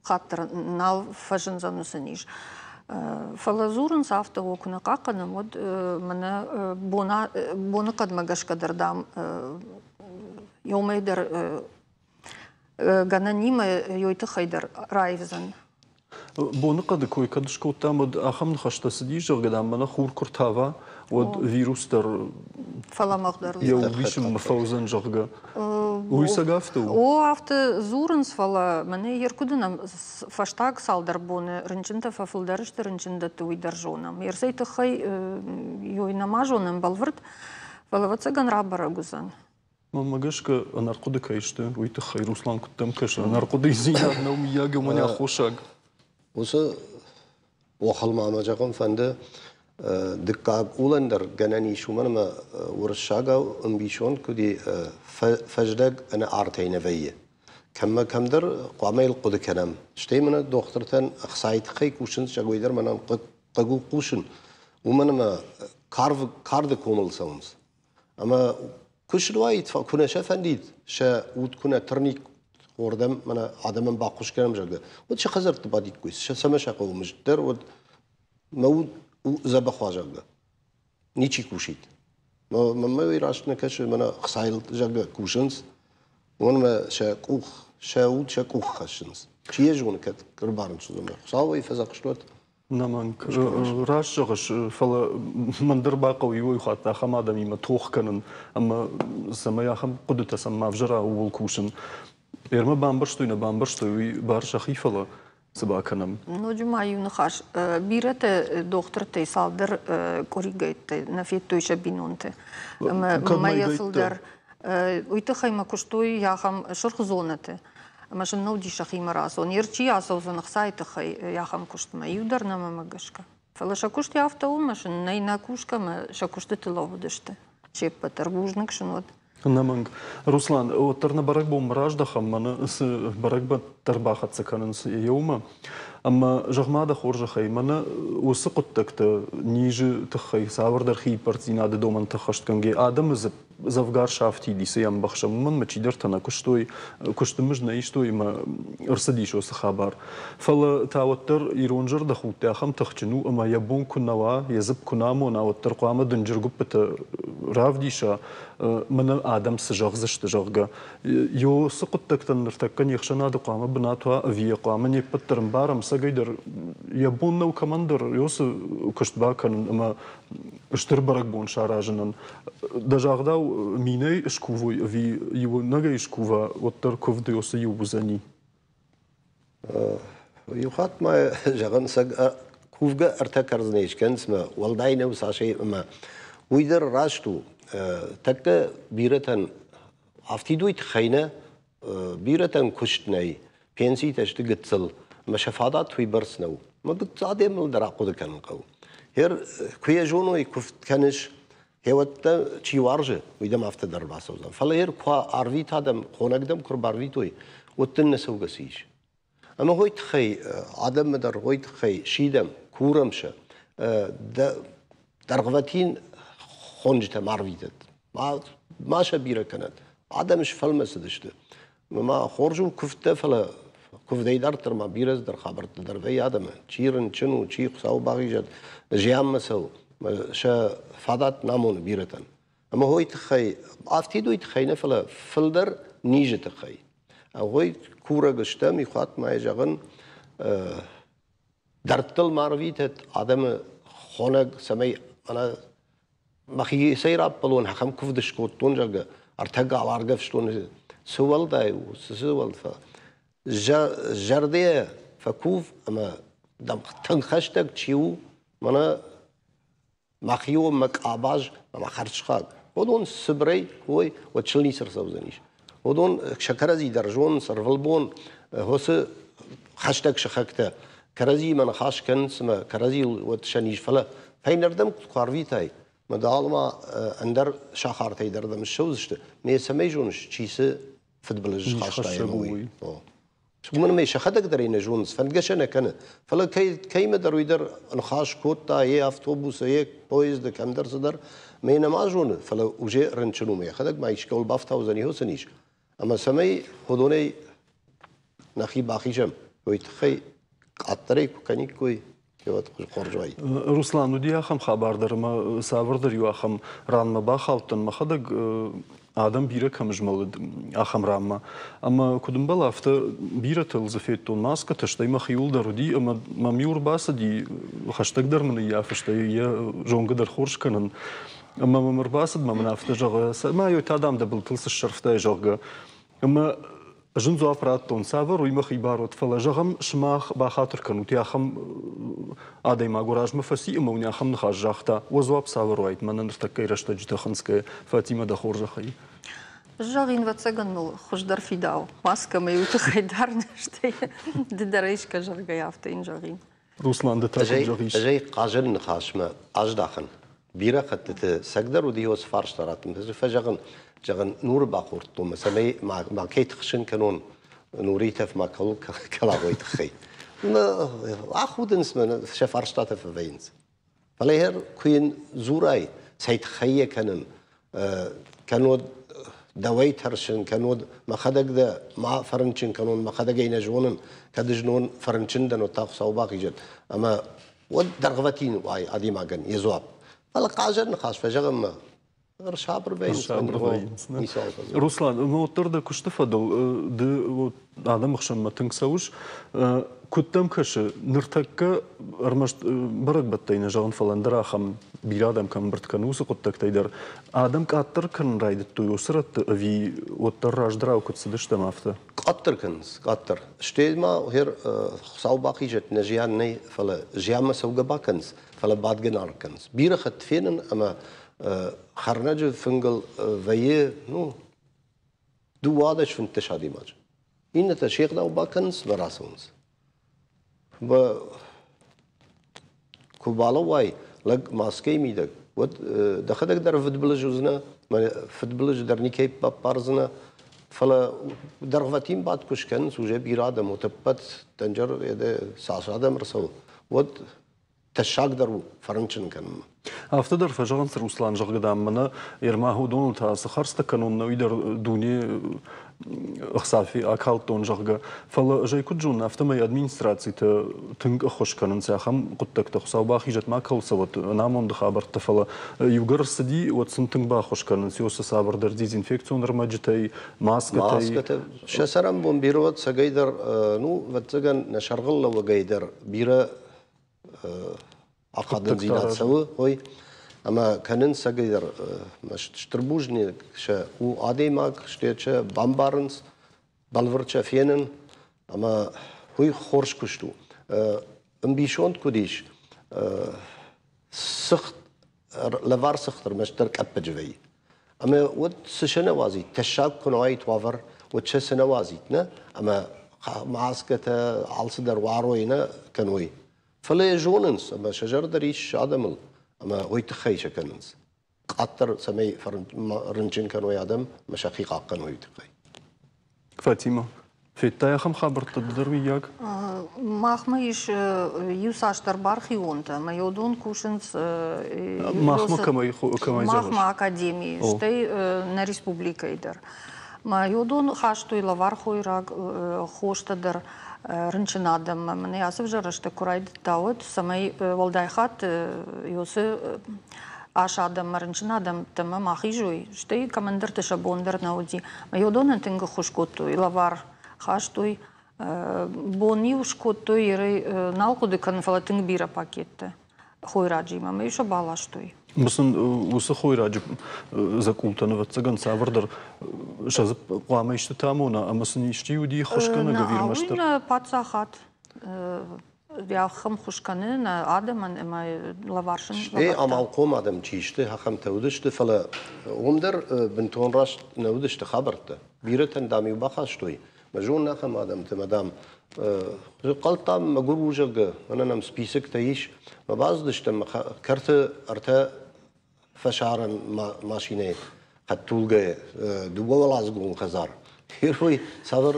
хатт дӕр нал фӕзындзӕн уыцы низ. Фӕлӕ дзурынц афтӕ, о, куы нӕ хъахъхъӕнӕм, уӕд мӕнӕ боныхъӕдмӕ гӕсгӕ дӕр, дам, иумӕ дӕр гӕнӕнимӕ ёй тыххӕй дӕр раивдзӕн. Боныхъӕды кой кӕд скодтам, уӕд ахӕм ныхӕстӕ цыдис, зӕгъгӕ, дам, мӕнӕ хур куы ртава, уӕд вирус дӕр фӕлӕмӕгъдӕр йӕ уисынмӕ фӕуыдзӕн, зӕгъгӕ. Уый цӕг афтӕ у? О, афтӕ дзурынц, фӕлӕ мӕнӕ йе ркуыды нӕм фӕстаг цалдӕр боны рынчынтӕ фӕфылдӕр сты рынчындӕтты, уый дӕр зонӕм. Ерсӕй тыххӕй ёй нӕма зонӕм бӕлвырд, фӕлӕ, ӕвӕццӕгӕн, рабӕрӕг уыдзӕн. Мӕнмӕ гӕсгӕ, ӕнӕрхъуыды кӕй сты, уый тыххӕй Руслан куыддӕм кӕсы, ӕнӕрхъуыдыдзинад нӕу мыййаг уымӕн аххосаг. Уыцы охыл ма мӕ зӕгъын фӕнды, дыккаг улӕн дӕр гӕнӕн ис, уымӕн ӕмӕ уырыссагау ӕмбисонд куыд и, фӕздӕг ӕнӕ артӕй нӕ вӕййы. Кӕммӕ кӕмдӕр хъуамӕ йыл хъуыды кӕнӕм. Стӕй мӕнӕ дохтыртӕн ӕхцайы тыххӕй кусынц, зӕгъой дӕр мӕнӕн хъыг у хъусын, уымӕн ӕмӕ карды комыл цӕуынц. Ӕмӕ куы суаид, куы нӕ сӕ фӕндид, сӕ уд куы нӕ тырник хордӕм, мӕнӕ адӕмӕн баххуыс кӕнӕм, зӕгъгӕ, уӕд сӕ хӕдзӕртты бадиккой, сӕ цӕмӕ сӕ хъӕуы мызд дӕр, уӕд мӕ уд у дзӕбӕх уа, зӕгъгӕ. Ничи кусид. Мӕнмӕ уый раст нӕ кӕсы, мӕнӕ хцайыл, зӕгъгӕ, кусынц, уымӕн ӕмӕ сӕ къух, сӕ уд сӕ къух хӕссынц. Чи йӕ зоны, кӕд ӕрбарынчын уыдзӕн. Хуыцау ӕй фӕдзӕхст уӕд. Нӕмӕнг. Раст зӕгъыс, фӕлӕ мӕн дӕр бахъӕуы иуӕй хатт ахӕм адӕмимӕ тох кӕнын ӕмӕ цӕмӕй ахӕм хъуыдытӕ сӕм ма взӕра, ууыл кусын. Ӕрмӕ бамбӕрстой, нӕ бамбӕрстой, уый бар сӕхи, фӕлӕ цы бакӕнӕм? Ноджы ма иу ныхас. Бирӕтӕ дохтыртӕй цалдӕр къуыригӕйттӕ нӕ федтой сӕ бинонты. Ӕмӕ мӕйӕ фылдӕр. Уый тыххӕй мӕ куыстой ахӕм сырх зонӕты. Ӕмӕ сын нӕ уыди сӕхимӕ рацӕуын. Йе рчи ацӕудзӕн ӕхцайы тыххӕй ахӕм куыстмӕ. Иу дӕр нӕ мӕмӕ гӕсгӕ. Фӕлӕ сӕ куыст афтӕ у, ӕмӕ сын нӕй нӕ кусгӕ ӕмӕ сӕ куыстыты лӕууыдысты. Се ппӕт дӕр бузныг сын уӕд. Ӕнӕмӕнг. Руслан, уӕддӕр нӕ бӕрӕгбонмӕ раздӕхӕм, мӕнӕ цы бӕрӕгбӕттӕ ӕрбахӕццӕ кӕнынц еумӕ. Ӕмӕ зӕгъ-ма дӕ хорзӕхӕй, мӕнӕ уыцы хъуыддӕгтӕ низы тыххӕй цавӕрдӕр хииппӕрддзинады домӕнтӕ ӕххӕстгӕнгӕ адӕмы дзӕвгар сафтид и, цы йӕ ӕмбӕхсӕм, уымӕн ӕмӕ чидӕртӕ нӕ куыстой, куысты мызд нӕ истой ӕмӕ ӕрцыдис уыцы хабар. Фӕлӕ та уӕддӕр ирон зӕрдӕхудт ахӕм тыхджын у, ӕмӕ йӕ бон куы нӕ уа, йӕ дзыпп куы нӕ амона, уӕддӕр хъуамӕ дынджыр гуыппытӕ равдиса, мӕнӕ адӕм цы зӕгъдзысты, зӕгъгӕ. Ё цы хъуыддӕгтӕн ныртӕккӕ не хсӕнады хъуамӕ бынат уа ӕви йӕ хъуамӕ не ппӕт дӕр ӕмбарӕм, цӕгӕйдӕр йӕ бон нӕу кӕмӕндӕр ё цы куыст бакӕнын ӕмӕ стыр бӕрӕгбон саразынӕн. Дӕ загъдау, минӕй скувой ӕви иунӕгӕй скува, уӕддӕр куывд ё цы иу уыдзӕни. Иу хатт ма зӕгъын, кувгӕ ӕртӕ кӕрдзынӕй скӕнынц мӕ уӕлдай нӕу цасӕй ӕмӕ уый дӕр раст у. Тӕккӕ бирӕтӕн афтид уый тыххӕй нӕ, бирӕтӕн куыст нӕй, пенситӕ сты гыццыл, ӕмӕ сӕ фадат уыйбӕрц нӕу. Мӕ гыццыл адӕмыл дӕр ахъуыды кӕнын хъӕуы. Гъер куы йӕ зоной, куывд кӕныс, хеуӕттӕ чи уарзы, уый дӕм афтӕ дӕр бацӕудзӕн. Фӕлӕ йер куы арвита дӕм, хонӕг дӕм куы рбарвитой, уӕд дын нӕ цӕугӕ цы ис. Ӕмӕ уый тыххӕй адӕммӕ дӕр уый тыххӕй сидӕм, курӕм сӕ, дӕргъвӕтин хонджытӕм арвитӕд. Ма сӕ бирӕ кӕнӕд. Адӕм сфӕлмӕцыдысты. Ма хорз у куывдтӕ, фӕлӕ куывдӕй дарддӕр ма бирӕ цыдӕр хабӕрттӕ дӕр вӕййы адӕмы. Чи рынчын у, чи Хуыцауы бахизӕд, зианмӕ цӕуы. Сӕ фадат намоны бирӕтӕн. Ӕмӕ уый тыххӕй, афтид уый тыххӕй нӕ, фӕлӕ фылдӕр низы тыххӕй. Уый курӕг стӕм, ихуат ма зӕгъын, дӕрдтыл ма рвитӕд адӕмы хонӕг, цӕмӕй мӕнӕ мӕхицӕй раппӕлон, ахӕм куывд скодтон, зӕгъгӕ, ӕртӕ гал аргӕвстон, цы уӕлдай у, цы уӕлдай. Зӕрдӕйӕ фӕкув ӕмӕ дӕм тынг хӕстӕг чи у, мӕнӕ мӕхион мӕ къабаз ӕмӕ хӕрзхъӕд. Уыдон цыбырӕй кой, уӕд сыл ницы ӕрцӕудзӕнис. Уыдон сӕ кӕрӕдзи дӕр зонынц ӕрвылбон уыцы хӕстӕг сыхӕгтӕ кӕрӕдзиимӕ ныхас кӕнынц ӕмӕ кӕрӕдзийыл уӕд сӕ низ. Фӕлӕ фӕйнӕрдӕм куы арвитай, Мӕ дӕлӕ ӕндӕр сахартӕй дӕр дӕм ссӕудзысты. Ме цӕмӕй зоныс, чи цы фыдбылыз схаста ӕмӕ уый. Уымӕн ӕмӕ сӕхӕдӕг дӕр ӕй нӕ зонынц, фӕндгӕ сӕ нӕ кӕны. Фӕлӕ кӕимӕ дӕр уый дӕр ныхас кодта, йе автобусы, йе поезды, кӕмдӕр цыдӕр, мӕ нӕма зоны, фӕлӕ уже рынчын у, йӕхӕдӕг ма искӕуыл бафтаудзӕн, цы низ. Ӕмӕ цӕмӕй уыдонӕй нӕхи бахизӕм, уый тыххӕй къаддӕрӕй куы кӕниккой, хорз уаид. Руслан, уыди ахӕм хабар дӕр, ӕмӕ цавӕрдӕр иу ахӕм ранмӕ бахаудтӕн мӕхӕдӕг, адӕм бирӕ кӕм змӕлыд, ахӕм ранмӕ. Ӕмӕ куыд ӕмбӕлы, афтӕ бирӕтыл дзы федтон маскӕтӕ, стӕй мӕхиуыл дӕр уыди, ӕмӕ мӕм иу ӕрбацыди, хӕстӕгдӕр мын ӕййафы, стӕй йӕ зонгӕ дӕр хорз кӕнын. Ӕмӕ мӕм ӕрбацыд, мӕ мын афтӕ зӕгъы, цӕмӕй та, дам, дӕ былтыл цы ссӕрфтай, зӕгъгӕ. Ӕмӕ зын дзуапп радтон, цавӕр уый мӕхи бар уыд, фӕлӕ, зӕгъӕм, сымах бахатыр кӕнут, ахӕм адӕймаг уӕ размӕ фӕци ӕмӕ уын ахӕм ныхас загъта, уӕ дзуапп цавӕр уаид мӕнӕ ныртӕккӕйы рӕстӕджыты хынцгӕйӕ, Фатимӕ, дӕ хорзӕхӕй? Зӕгъин, ӕвӕццӕгӕн мыл хуыздӕр фидауы маскӕ мӕ иу тыххӕй дӕр, стӕй ды дӕр ӕй скӕ, зӕгъгӕ, афтӕ йын зӕгъин. Руслан, ды та куыд зӕгъис? Ӕз ӕй хъазӕн ныхасмӕ аздахын. Бирӕ хӕттыты цӕгдӕр уыди уыцы фарста раттын. Фӕзӕгъын, зӕгъын, нуры бахордтон, цӕмӕй ма кӕй тыхсын кӕнон, нуры тӕф ма кӕуыл кӕла, уый тыххӕй. Ахудынц мӕ, сӕ фарстатӕ фӕвӕййынц. Фӕлӕ йӕ куы йын дзурай, цӕй тыххӕй йӕ кӕнын, кӕннод дӕуӕй тӕрсын, кӕннод мӕхӕдӕг дӕ ма фӕрынчын кӕнон, мӕхӕдӕг ӕй нӕ зонын, кӕд знон фӕрынчын дӕн, уӕд та Хуыцау бахизӕд. Ӕмӕ уӕд дӕргъвӕтин уай адӕймагӕн йӕ дзуапп. Фӕлӕ хъазӕн ныхас фӕзӕгъынмӕ ӕрсабыр вӕййынц. Руслан, ну уӕддӕр дӕ куысты фӕдыл ды адӕмы хсӕнмӕ тынг цӕуыс. Куыд дӕм кӕсы, ныртӕккӕ ӕрмӕст бӕрӕгбӕттӕй нӕ зӕгъын, фӕлӕ ӕндӕр ахӕм бирӕ адӕм кӕм ӕмбырд кӕны, уыцы хъуыддӕгтӕй дӕр адӕм къаддӕр кӕнын райдыдтой уыцы рӕтты ӕви уӕддӕр раздӕрау куыд цыдыстӕм, афтӕ? Къаддӕр кӕнынц, къаддӕр. Стӕй ма Хуыцау бахизӕд, нӕ зиан нӕй, фӕлӕ зианмӕ цӕугӕ бакӕнынц, фӕлӕ бадгӕ нал кӕнынц. Бирӕ хатт фенын ӕмӕ хӕрнӕджы фынгыл вӕййы, ну, 12-15 адӕймаджы. Иннӕтӕ се гъдау бакӕнынц ӕмӕ рацӕуынц. Куы балӕууай лӕг маскӕйы мидӕг, уӕд дӕхӕдӕг дӕр фыдбылыз уыдзынӕ, фыдбылыз дӕр никӕй баппардзынӕ, фӕлӕ дӕргъвӕтин бадт куы скӕнынц, уже бирӕ адӕм, утӕппӕт дӕнджер цас адӕм ӕрцӕуы, уӕд тӕссагдӕр у фӕрынчын кӕнынмӕ. Афтӕ дӕр фӕзӕгъынц, Руслан, зӕгъгӕ, дам, мӕнӕ Ерма уыдоныл та цы хӕрдзтӕ кӕнон, уый дӕр дуне ӕхца акалдтон, зӕгъгӕ. Фӕлӕ ӕз ӕй куыд зонын, афтӕмӕй администрацитӕ тынг ӕххуыс кӕнынц ахӕм хъуыддӕгтӕ. Хуыцау бахизӕд, ма кӕуыл цӕуӕд ӕнамонды хабӕрттӕ, фӕлӕ иугӕр ӕрцыди, уӕд сын тынг баххуыс кӕнынц уыцы цавӕрдӕр дезинфекцион ӕрмӕджытӕй, маскӕтӕй. Маскӕтӕ. Сӕ цӕрӕнбон бирӕ уӕд цӕгӕйдӕр, ну, ӕвӕццӕгӕн, нӕ сӕргълӕууӕгӕй дӕр бирӕ ахадындзинад цӕуы, ой, ӕмӕ кӕнынц цӕгӕйдӕр стыр бузныг сӕ у адӕймаг, стӕй сӕ бамбарынц, бӕлвырд сӕ фенын, ӕмӕ уый хорз куыст у. Ӕмбисонд куыд ис, цыхт, лӕвар цыхт ӕрмӕстдӕр къӕппӕджы вӕййы. Ӕмӕ уӕд цы сӕ нӕ уадзид, тӕссаг куы нӕ уаид уавӕр, уӕд сӕ цы нӕ уадзид, нӕ? Ӕмӕ маскӕтӕ алцыдӕр уарой нӕ кӕной. Фӕлӕ йӕ зонынц ӕмӕ сӕ зӕрдӕ риссы адӕмыл, ӕмӕ уый тыххӕй сӕ кӕнынц. Къаддӕр цӕмӕй рынчын кӕной адӕм ӕмӕ сӕхи хъахъхъӕной уый тыххӕй. Фатима, федтай ахӕм хабӕрттӕ дӕр, мыййаг? Махмӕ ис иуцасдӕр бархионтӕ, ӕмӕ уыдон кусынц Махмӕ кӕмӕй кӕмӕй Махмӕ академийы, стӕй нӕ республикӕйы дӕр. Мӕ уыдон хастой лӕвар хойраг, хостӕ дӕр рынчын адӕммӕ. Мӕнӕ ацы ӕвзӕрӕстӕг куы райдыдта, уӕд цӕмӕй уӕлдай хатт уыцы ас адӕммӕ, рынчын адӕмтӕмӕ ма хизой, стӕй кӕмӕндӕрты сӕ бон дӕр нӕ уыди. Мӕ уыдонӕн тынг ӕххуыс кодтой, лӕвар хастой. Бон-иу скодтой, ерӕй нал хъуыды кӕнын, фӕлӕ тынг бирӕ пакеттӕ хойраджимӕ, ӕмӕ-иу сӕ баластой. Сын уыцы хойраджы дзӕкъултӕн, ӕвӕццӕгӕн, цавӕрдӕр сӕ дзы хъуамӕ истытӕ амона, ӕмӕ сын исчи уыди ххуысгӕнӕг ӕви ӕрмӕстдӕр? Уый паддзахад ахӕм хуыз кӕны нӕ адӕмӕн ӕмӕ лӕвар сын Стӕй амалхъом адӕм чи сты, ахӕмтӕ уыдысты, фӕлӕ уым дӕр бынтон раст нӕ уыдысты хабӕрттӕ. Бирӕтӕн, дам-иу бахастой, мӕ зонын ахӕм адӕмты, мӕ, дам, хъӕлдтам мӕгуыр у, зӕгъгӕ, мӕнӕ нӕм списоктӕ ис. Мӕ бацыдыстӕм кӕрты ӕртӕ Фӕсарӕн машинӕйы хӕдтулгӕйы дыууӕуӕладзыгон хӕдзар. Герой цавӕр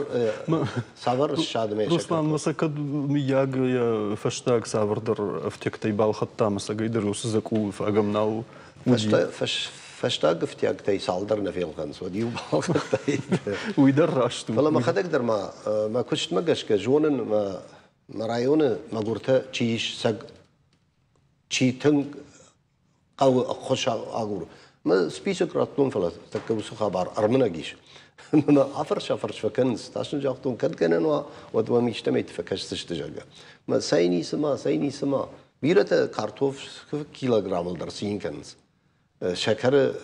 цавӕр ссадмӕ Руслан, ма сӕ кӕд мыййаг йӕ фӕстаг цавӕрдӕр ӕфтиӕгтӕй балхӕдта ӕмӕ сӕгӕйдӕр уыцы дзӕкъулы фагӕм нал уыди? Фӕстаг ӕфтиӕгтӕй цалдӕр нӕ фелхӕнынц, уӕд иу балхӕдтаид. Уый дӕр раст у. Фӕлӕ мӕхӕдӕг дӕр ма мӕ куыстмӕ гӕсгӕ зонын, мӕ районы мӕгуыртӕ чи ис, сӕг чи тынг хъӕуы ӕххуыс агур. Мӕ список радтон, фӕлӕ тӕккӕ уыцы хабар ӕрмынӕг ис. Мӕ афӕрс-афӕрс фӕкӕнынц, тас ын загътон, кӕд гӕнӕн уа, уӕд уӕм истӕмӕйты фӕкӕсдзысты, зӕгъгӕ. Мӕ цӕй ницы ма, цӕй ницы ма. Бирӕтӕ картоф килограммыл дӕр цин кӕнынц. Сӕкӕры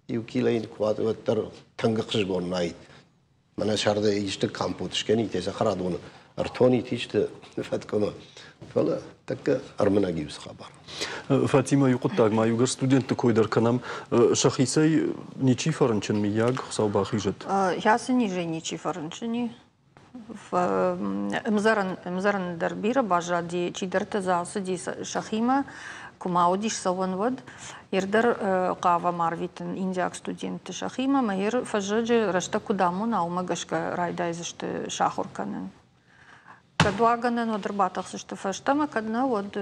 иу килойы куы уа, уӕддӕр тынг ӕхсызгон нӕй. Мӕнӕ сӕрды исты компот скӕнит, цӕхӕрадоны ӕртонит исты фӕткъуымы. Фӕлӕ тӕккӕ ӕрмынӕг иу хабар. Фатимӕ, иу хъуыддаг ма иугӕр студентты кой дӕр кӕнӕм. Сӕхицӕй ничи фӕрынчын, мыййаг, Хуыцау бахизӕд? Йӕ низӕй ничи фӕрынчын и. Ӕмдзӕрӕн дӕр бирӕ баззади, чидӕртӕ дзы ацыди сӕхимӕ, куы ма уыдис цӕуӕн, уӕд. Ер дӕр хъавӕм арвитын индиаг студентты сӕхимӕ, ӕмӕ ер фӕззӕджы рӕстӕг куыд амона, уымӕ гӕсгӕ райдайдзысты сахуыр кӕнын. Кӕд уа гӕнӕн, уӕд ӕрбатӕхдзысты фӕстӕмӕ, кӕд нӕ, уӕд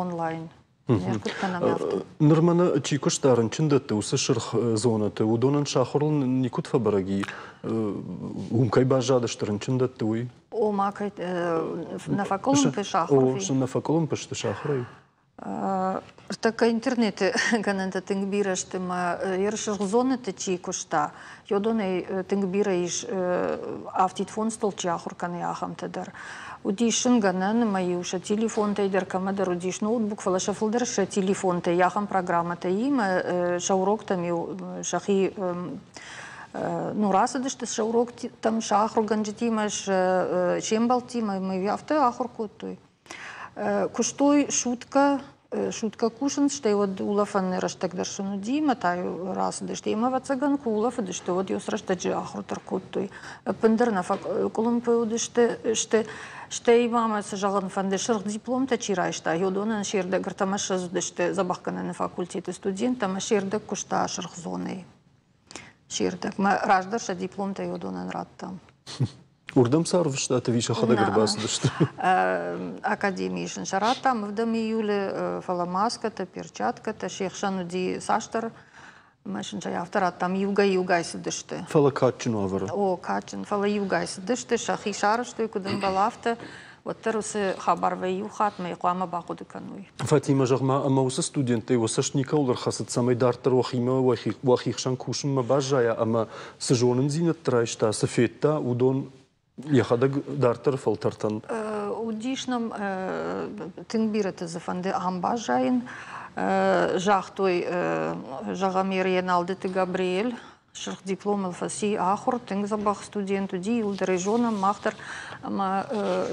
онлайн. Ныр мӕнӕ чи куыста рынчындӕтты, уыцы сырх зонӕты, уыдонӕн сӕ ахуырыл никуыд фӕбӕрӕг и, уым кӕй баззадысты рынчындӕтты, уый? Ома, кӕй нӕ фӕкъуылымпы сӕ ахуыр? О, нӕ фӕкъуылымпы сты сӕ ахуырӕй. Ныртӕккӕ интернеты гӕнӕнтӕ тынг бирӕ сты мӕ йе сырх зонӕты чи куыста, уыдонӕй тынг бирӕ ис афтид фондзтыл чи ахуыр кӕны, ахӕмтӕ дӕр. Уыдис ын гӕнӕн ӕмӕ-иу сӕ телефонтӕй дӕр кӕмӕдӕр уыдис ноутбук, фӕлӕ сӕ фылдӕр сӕ телефонтӕй ахӕм программӕтӕ имӕ сӕ уроктӕм-иу сӕхи ну, рацыдысты сӕ уроктӕм, сӕ ахуыргӕнджытимӕ, се мбӕлттимӕ ӕмӕ афтӕ ахуыр кодтой. Куыстой суткӕ, суткӕ кусынц, стӕй уӕд улӕфӕн рӕстӕг дӕр сын уыди, ӕмӕ та-иу рацыдысты. Ӕмӕ, ӕвӕццӕгӕн, куы улӕфыдысты, уӕд иу рӕстӕджы ахуыр дӕр кодтой. Ӕппындӕр нӕ фӕкъуылымпы уыдысты сты. Стӕй ма мӕ цы зӕгъын фӕнды, сырх дипломтӕ чи райста, уыдонӕн се рдӕг ӕртӕмӕ ссӕдз уыдысты дзӕбӕхгӕнӕны факультеты студенттӕ ӕмӕ се рдӕг куыста сырх зонӕйы. Се рдӕг. Мӕ раздӕр сӕ дипломтӕ уыдонӕн радтам. Уырдӕм сӕ ӕрвыстат ӕви сӕхӕдӕг ӕрбацыдысты? Академийы сын сӕ радтам ӕвдӕм июлы, фӕлӕ маскӕтӕ, перчаткӕтӕ се хсӕн уыди цасдӕр ӕмӕ сын сӕ афтӕ радтам, иугай-иугай цыдысты. Фӕлӕ кадджын уавӕры? О, кадджын, фӕлӕ иугай цыдысты, сӕхи сарӕзтой, куыд ӕмбӕлы, афтӕ. Уӕддӕр уыцы хабар вӕййы иу хатт, мӕ хъуамӕ бахъуыды кӕной. Фатимӕ, зӕгъ-ма, ӕмӕ уыцы студенттӕй уӕ цӕст никӕуыл ӕрхӕцыд, цӕмӕй дарддӕр уӕхимӕ уӕхи хсӕн кусынмӕ баззайа ӕмӕ цы зонындзинӕдтӕ райста, цы федта, уыдон йӕхӕдӕг дарддӕры фӕлтӕртӕн? Уыдис нӕм тынг бирӕты дзы фӕнды ам баззайын. Загътой, зӕгъӕм, Еналдыты Габриэль, Сырх дипломыл фӕци ахуыр, тынг дзӕбӕх студент уыди, иуылдӕр ӕй зонӕм мах дӕр. Ӕмӕ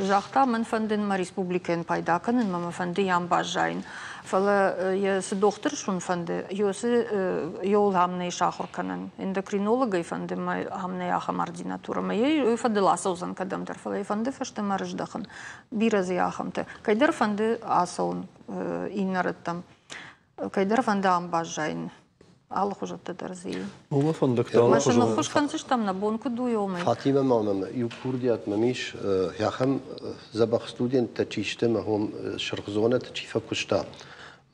загъта, мӕн фӕнды мӕ республикӕйӕн пайда кӕнын, мӕ фӕнды йӕм баззайын. Фӕлӕ йӕ цы дохтыр суын фӕнды, йоцы йол ам нӕй сахуыр кӕнӕн. Эндокринологӕй фӕнды мӕ ам нӕй ахӕм ординатурӕ. Мӕ йӕ фӕдыл ацӕудзӕн кӕдӕмдӕр, фӕлӕ йӕ фӕнды фӕстӕмӕ рыздӕхын. Бирӕ дзы ахӕмтӕ. Кӕйдӕр фӕнды ацӕуын иннӕ рӕттӕм. Кӕйдӕр фӕнды ам баззайын. Алыхуызӕттӕ дӕр дзы и. Уымӕ фӕндӕгтӕ алыхуызон. Мӕ ныххуыс кӕндзыстӕм, нӕ бон куыд у, уымӕй. Фатимӕ ма мӕм иу курдиат мӕм ис, ахӕм дзӕбӕх студенттӕ чи сты, мӕ хом сырх зонӕты чи фӕкуыста.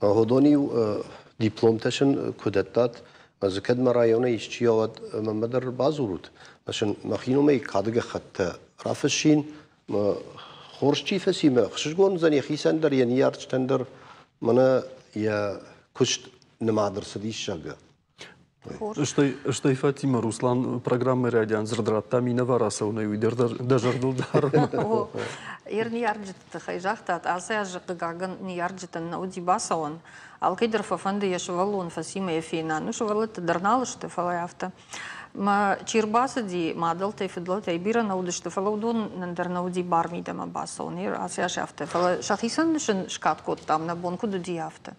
Мӕ уыдон-иу дипломтӕ сын куы дӕттат, мӕ дзы кӕд мӕ районӕй исчи уӕд мӕнмӕ дӕр бадзурут. Мӕ сын мӕхи номӕй кады гӕххӕттӕ рафыссин, мӕ хорз чи фӕци, мӕ ӕхсызгон уыдзӕн йӕхицӕн дӕр, йӕ ныййарджытӕн дӕр, мӕнӕ йӕ куыст нымад ӕрцыдис, зӕгъгӕ. Стӕй Фатимӕ, Руслан программӕйы райдиан дзырд радта минӕвар ацӕуынӕй, уый дӕр дӕ зӕрдыл дары. Йе ныййарджыты тыххӕй загътат, ацы азы, хъыгагӕн, ныййарджытӕн нӕ уыди бацӕуӕн. Алкӕй дӕр фӕфӕнды йӕ сывӕллон фӕцимӕ йӕ фена. Ну, сывӕллӕттӕ дӕр нал сты, фӕлӕ афтӕ. Мӕ чи рбацыди, мадӕлтӕй, фыдӕлтӕй бирӕ нӕ уыдысты, фӕлӕ уыдонӕн дӕр нӕ уыди бар мидӕмӕ бацӕуын, ацы аз афтӕ. Фӕлӕ сӕхицӕн сын скад кодтам, нӕ бон куыд уыди, афтӕ.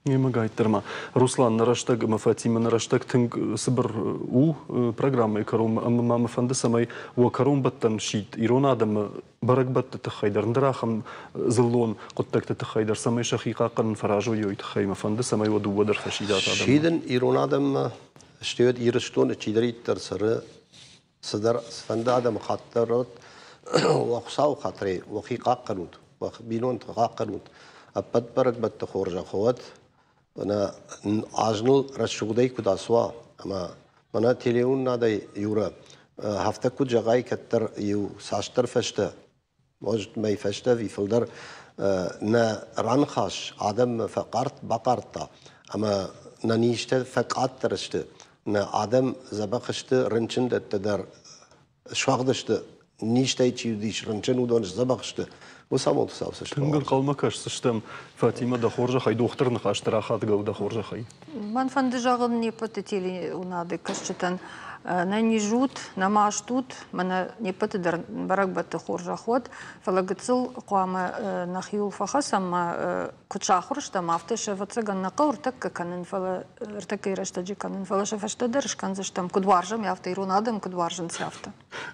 Немыгайддӕр ма. Руслан, нӕ рӕстӕг ӕмӕ Фатимӕ, нӕ рӕстӕг тынг цыбыр у программӕйы кӕронмӕ, ӕмӕ ма мӕ фӕнды, цӕмӕй уӕ кӕронбӕттӕн сидт ирон адӕмы бӕрӕгбӕтты тыххӕй дӕр, ӕндӕр ахӕм дзыллон хъуыддӕгты тыххӕй дӕр, цӕмӕй сӕхи хъахъхъӕнын фӕразой, уый тыххӕй мӕ фӕнды, цӕмӕй уӕ дыууӕ дӕр фӕсидат адӕммӕ. Сидын ирон адӕммӕ, стӕй уӕд Ирыстоны чидӕриддӕр цӕры, цыдӕр цыфӕнды адӕмыхатт дӕр уӕд, уӕ Хуыцауы хатырӕй уӕхи хъахъхъӕнут, уӕ бинонты хъахъхъӕнут, ӕппӕт бӕрӕгбӕтты хорзӕх уӕд, мӕнӕ аз ныл рӕсугъдӕй куыд ацуа, ӕмӕ мӕнӕ телеуынынадӕй, Юра, афтӕ куыд зӕгъай, кӕддӕр иу цасдӕр фӕстӕ, может, мӕй фӕстӕ ӕви фылдӕр нӕ раныхас адӕммӕ фӕхъард, бахъардта, ӕмӕ нӕ низтӕ фӕкъаддӕр сты, нӕ адӕм дзӕбӕх сты, рынчындӕттӕ дӕр суӕгъд сты, низтӕй чи уыдис рынчын, уыдон сдзӕбӕх сты. Уыцы амонд Хуыцау цӕст Тынг ӕнхъӕлмӕ кӕсдзыстӕм, Фатимӕ, дӕ хорзӕхӕй, дохтыры ныхӕсты рахатгӕ у дӕ хорзӕхӕй. Мӕн фӕнды зӕгъын не ппӕты телеуынады кӕсджытӕн, нӕ низ ут, нӕ маст ут, мӕнӕ не ппӕты дӕр бӕрӕгбӕтты хорзӕх уӕд, фӕлӕ гыццыл хъуамӕ нӕхиуыл фӕхӕцӕм ӕмӕ куыд сахуыр стӕм, афтӕ сӕ ӕвӕццӕгӕн нӕ хъӕуы ӕртӕккӕ кӕнын, фӕлӕ ӕртӕккӕйы рӕстӕджы кӕнын, фӕлӕ сӕ фӕстӕдӕр скӕндзыстӕм, куыд уарзӕм, афтӕ ирон адӕм куыд уарзынц, афтӕ.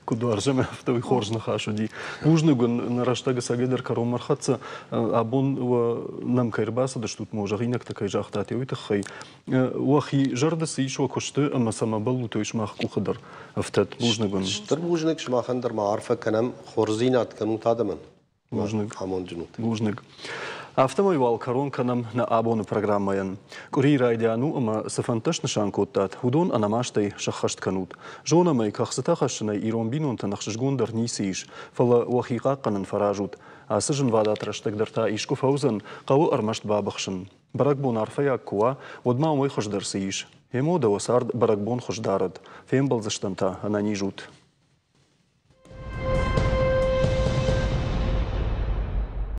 Куыд уарзӕм, афтӕ уый хорз ныхас уыди. Бузныг уын, нӕ рӕстӕг ӕцӕгӕйдӕр кӕронмӕ ӕрхӕццӕ. Абон уӕ нӕм кӕй ӕрбацыдыстут, мо зӕгъинӕгтӕ кӕй загътат, уый тыххӕй. Уӕхи зӕрды цы ис уӕ куысты ӕмӕ цӕмӕ бӕллут, уый сымах къухы дӕр ӕфтӕд. Бузныг уын. Стыр бузныг сымахӕн дӕр ма арфӕ кӕнӕм, хорздзинад кӕнут адӕмӕн. Бузныг. Амондджын ут. Бузныг. Афтӕмӕй уал кӕрон кӕнӕм нӕ абоны программӕйӕн. Къуырийы райдиан у ӕмӕ цы фӕндтӕ снысан кодтат, уыдон ӕнӕмастӕй сӕххӕст кӕнут. Зонӕм ӕй, кӕхцытӕ хӕссынӕй ирон бинонтӕн ӕхсызгондӕр ницы ис, фӕлӕ уӕхи хъахъхъӕнын фӕразут. Ацы зынвадат рӕстӕг дӕр та искуы фӕуыдзӕн, хъӕуы ӕрмӕст бабыхсын. Бӕрӕгбон арфӕйаг куы уа, уӕд ма уымӕй хуыздӕр цы ис? Емо дӕ уӕ цард бӕрӕгбон хуыз дарӕд. Фембӕлдзыстӕм та, ӕнӕниз ут.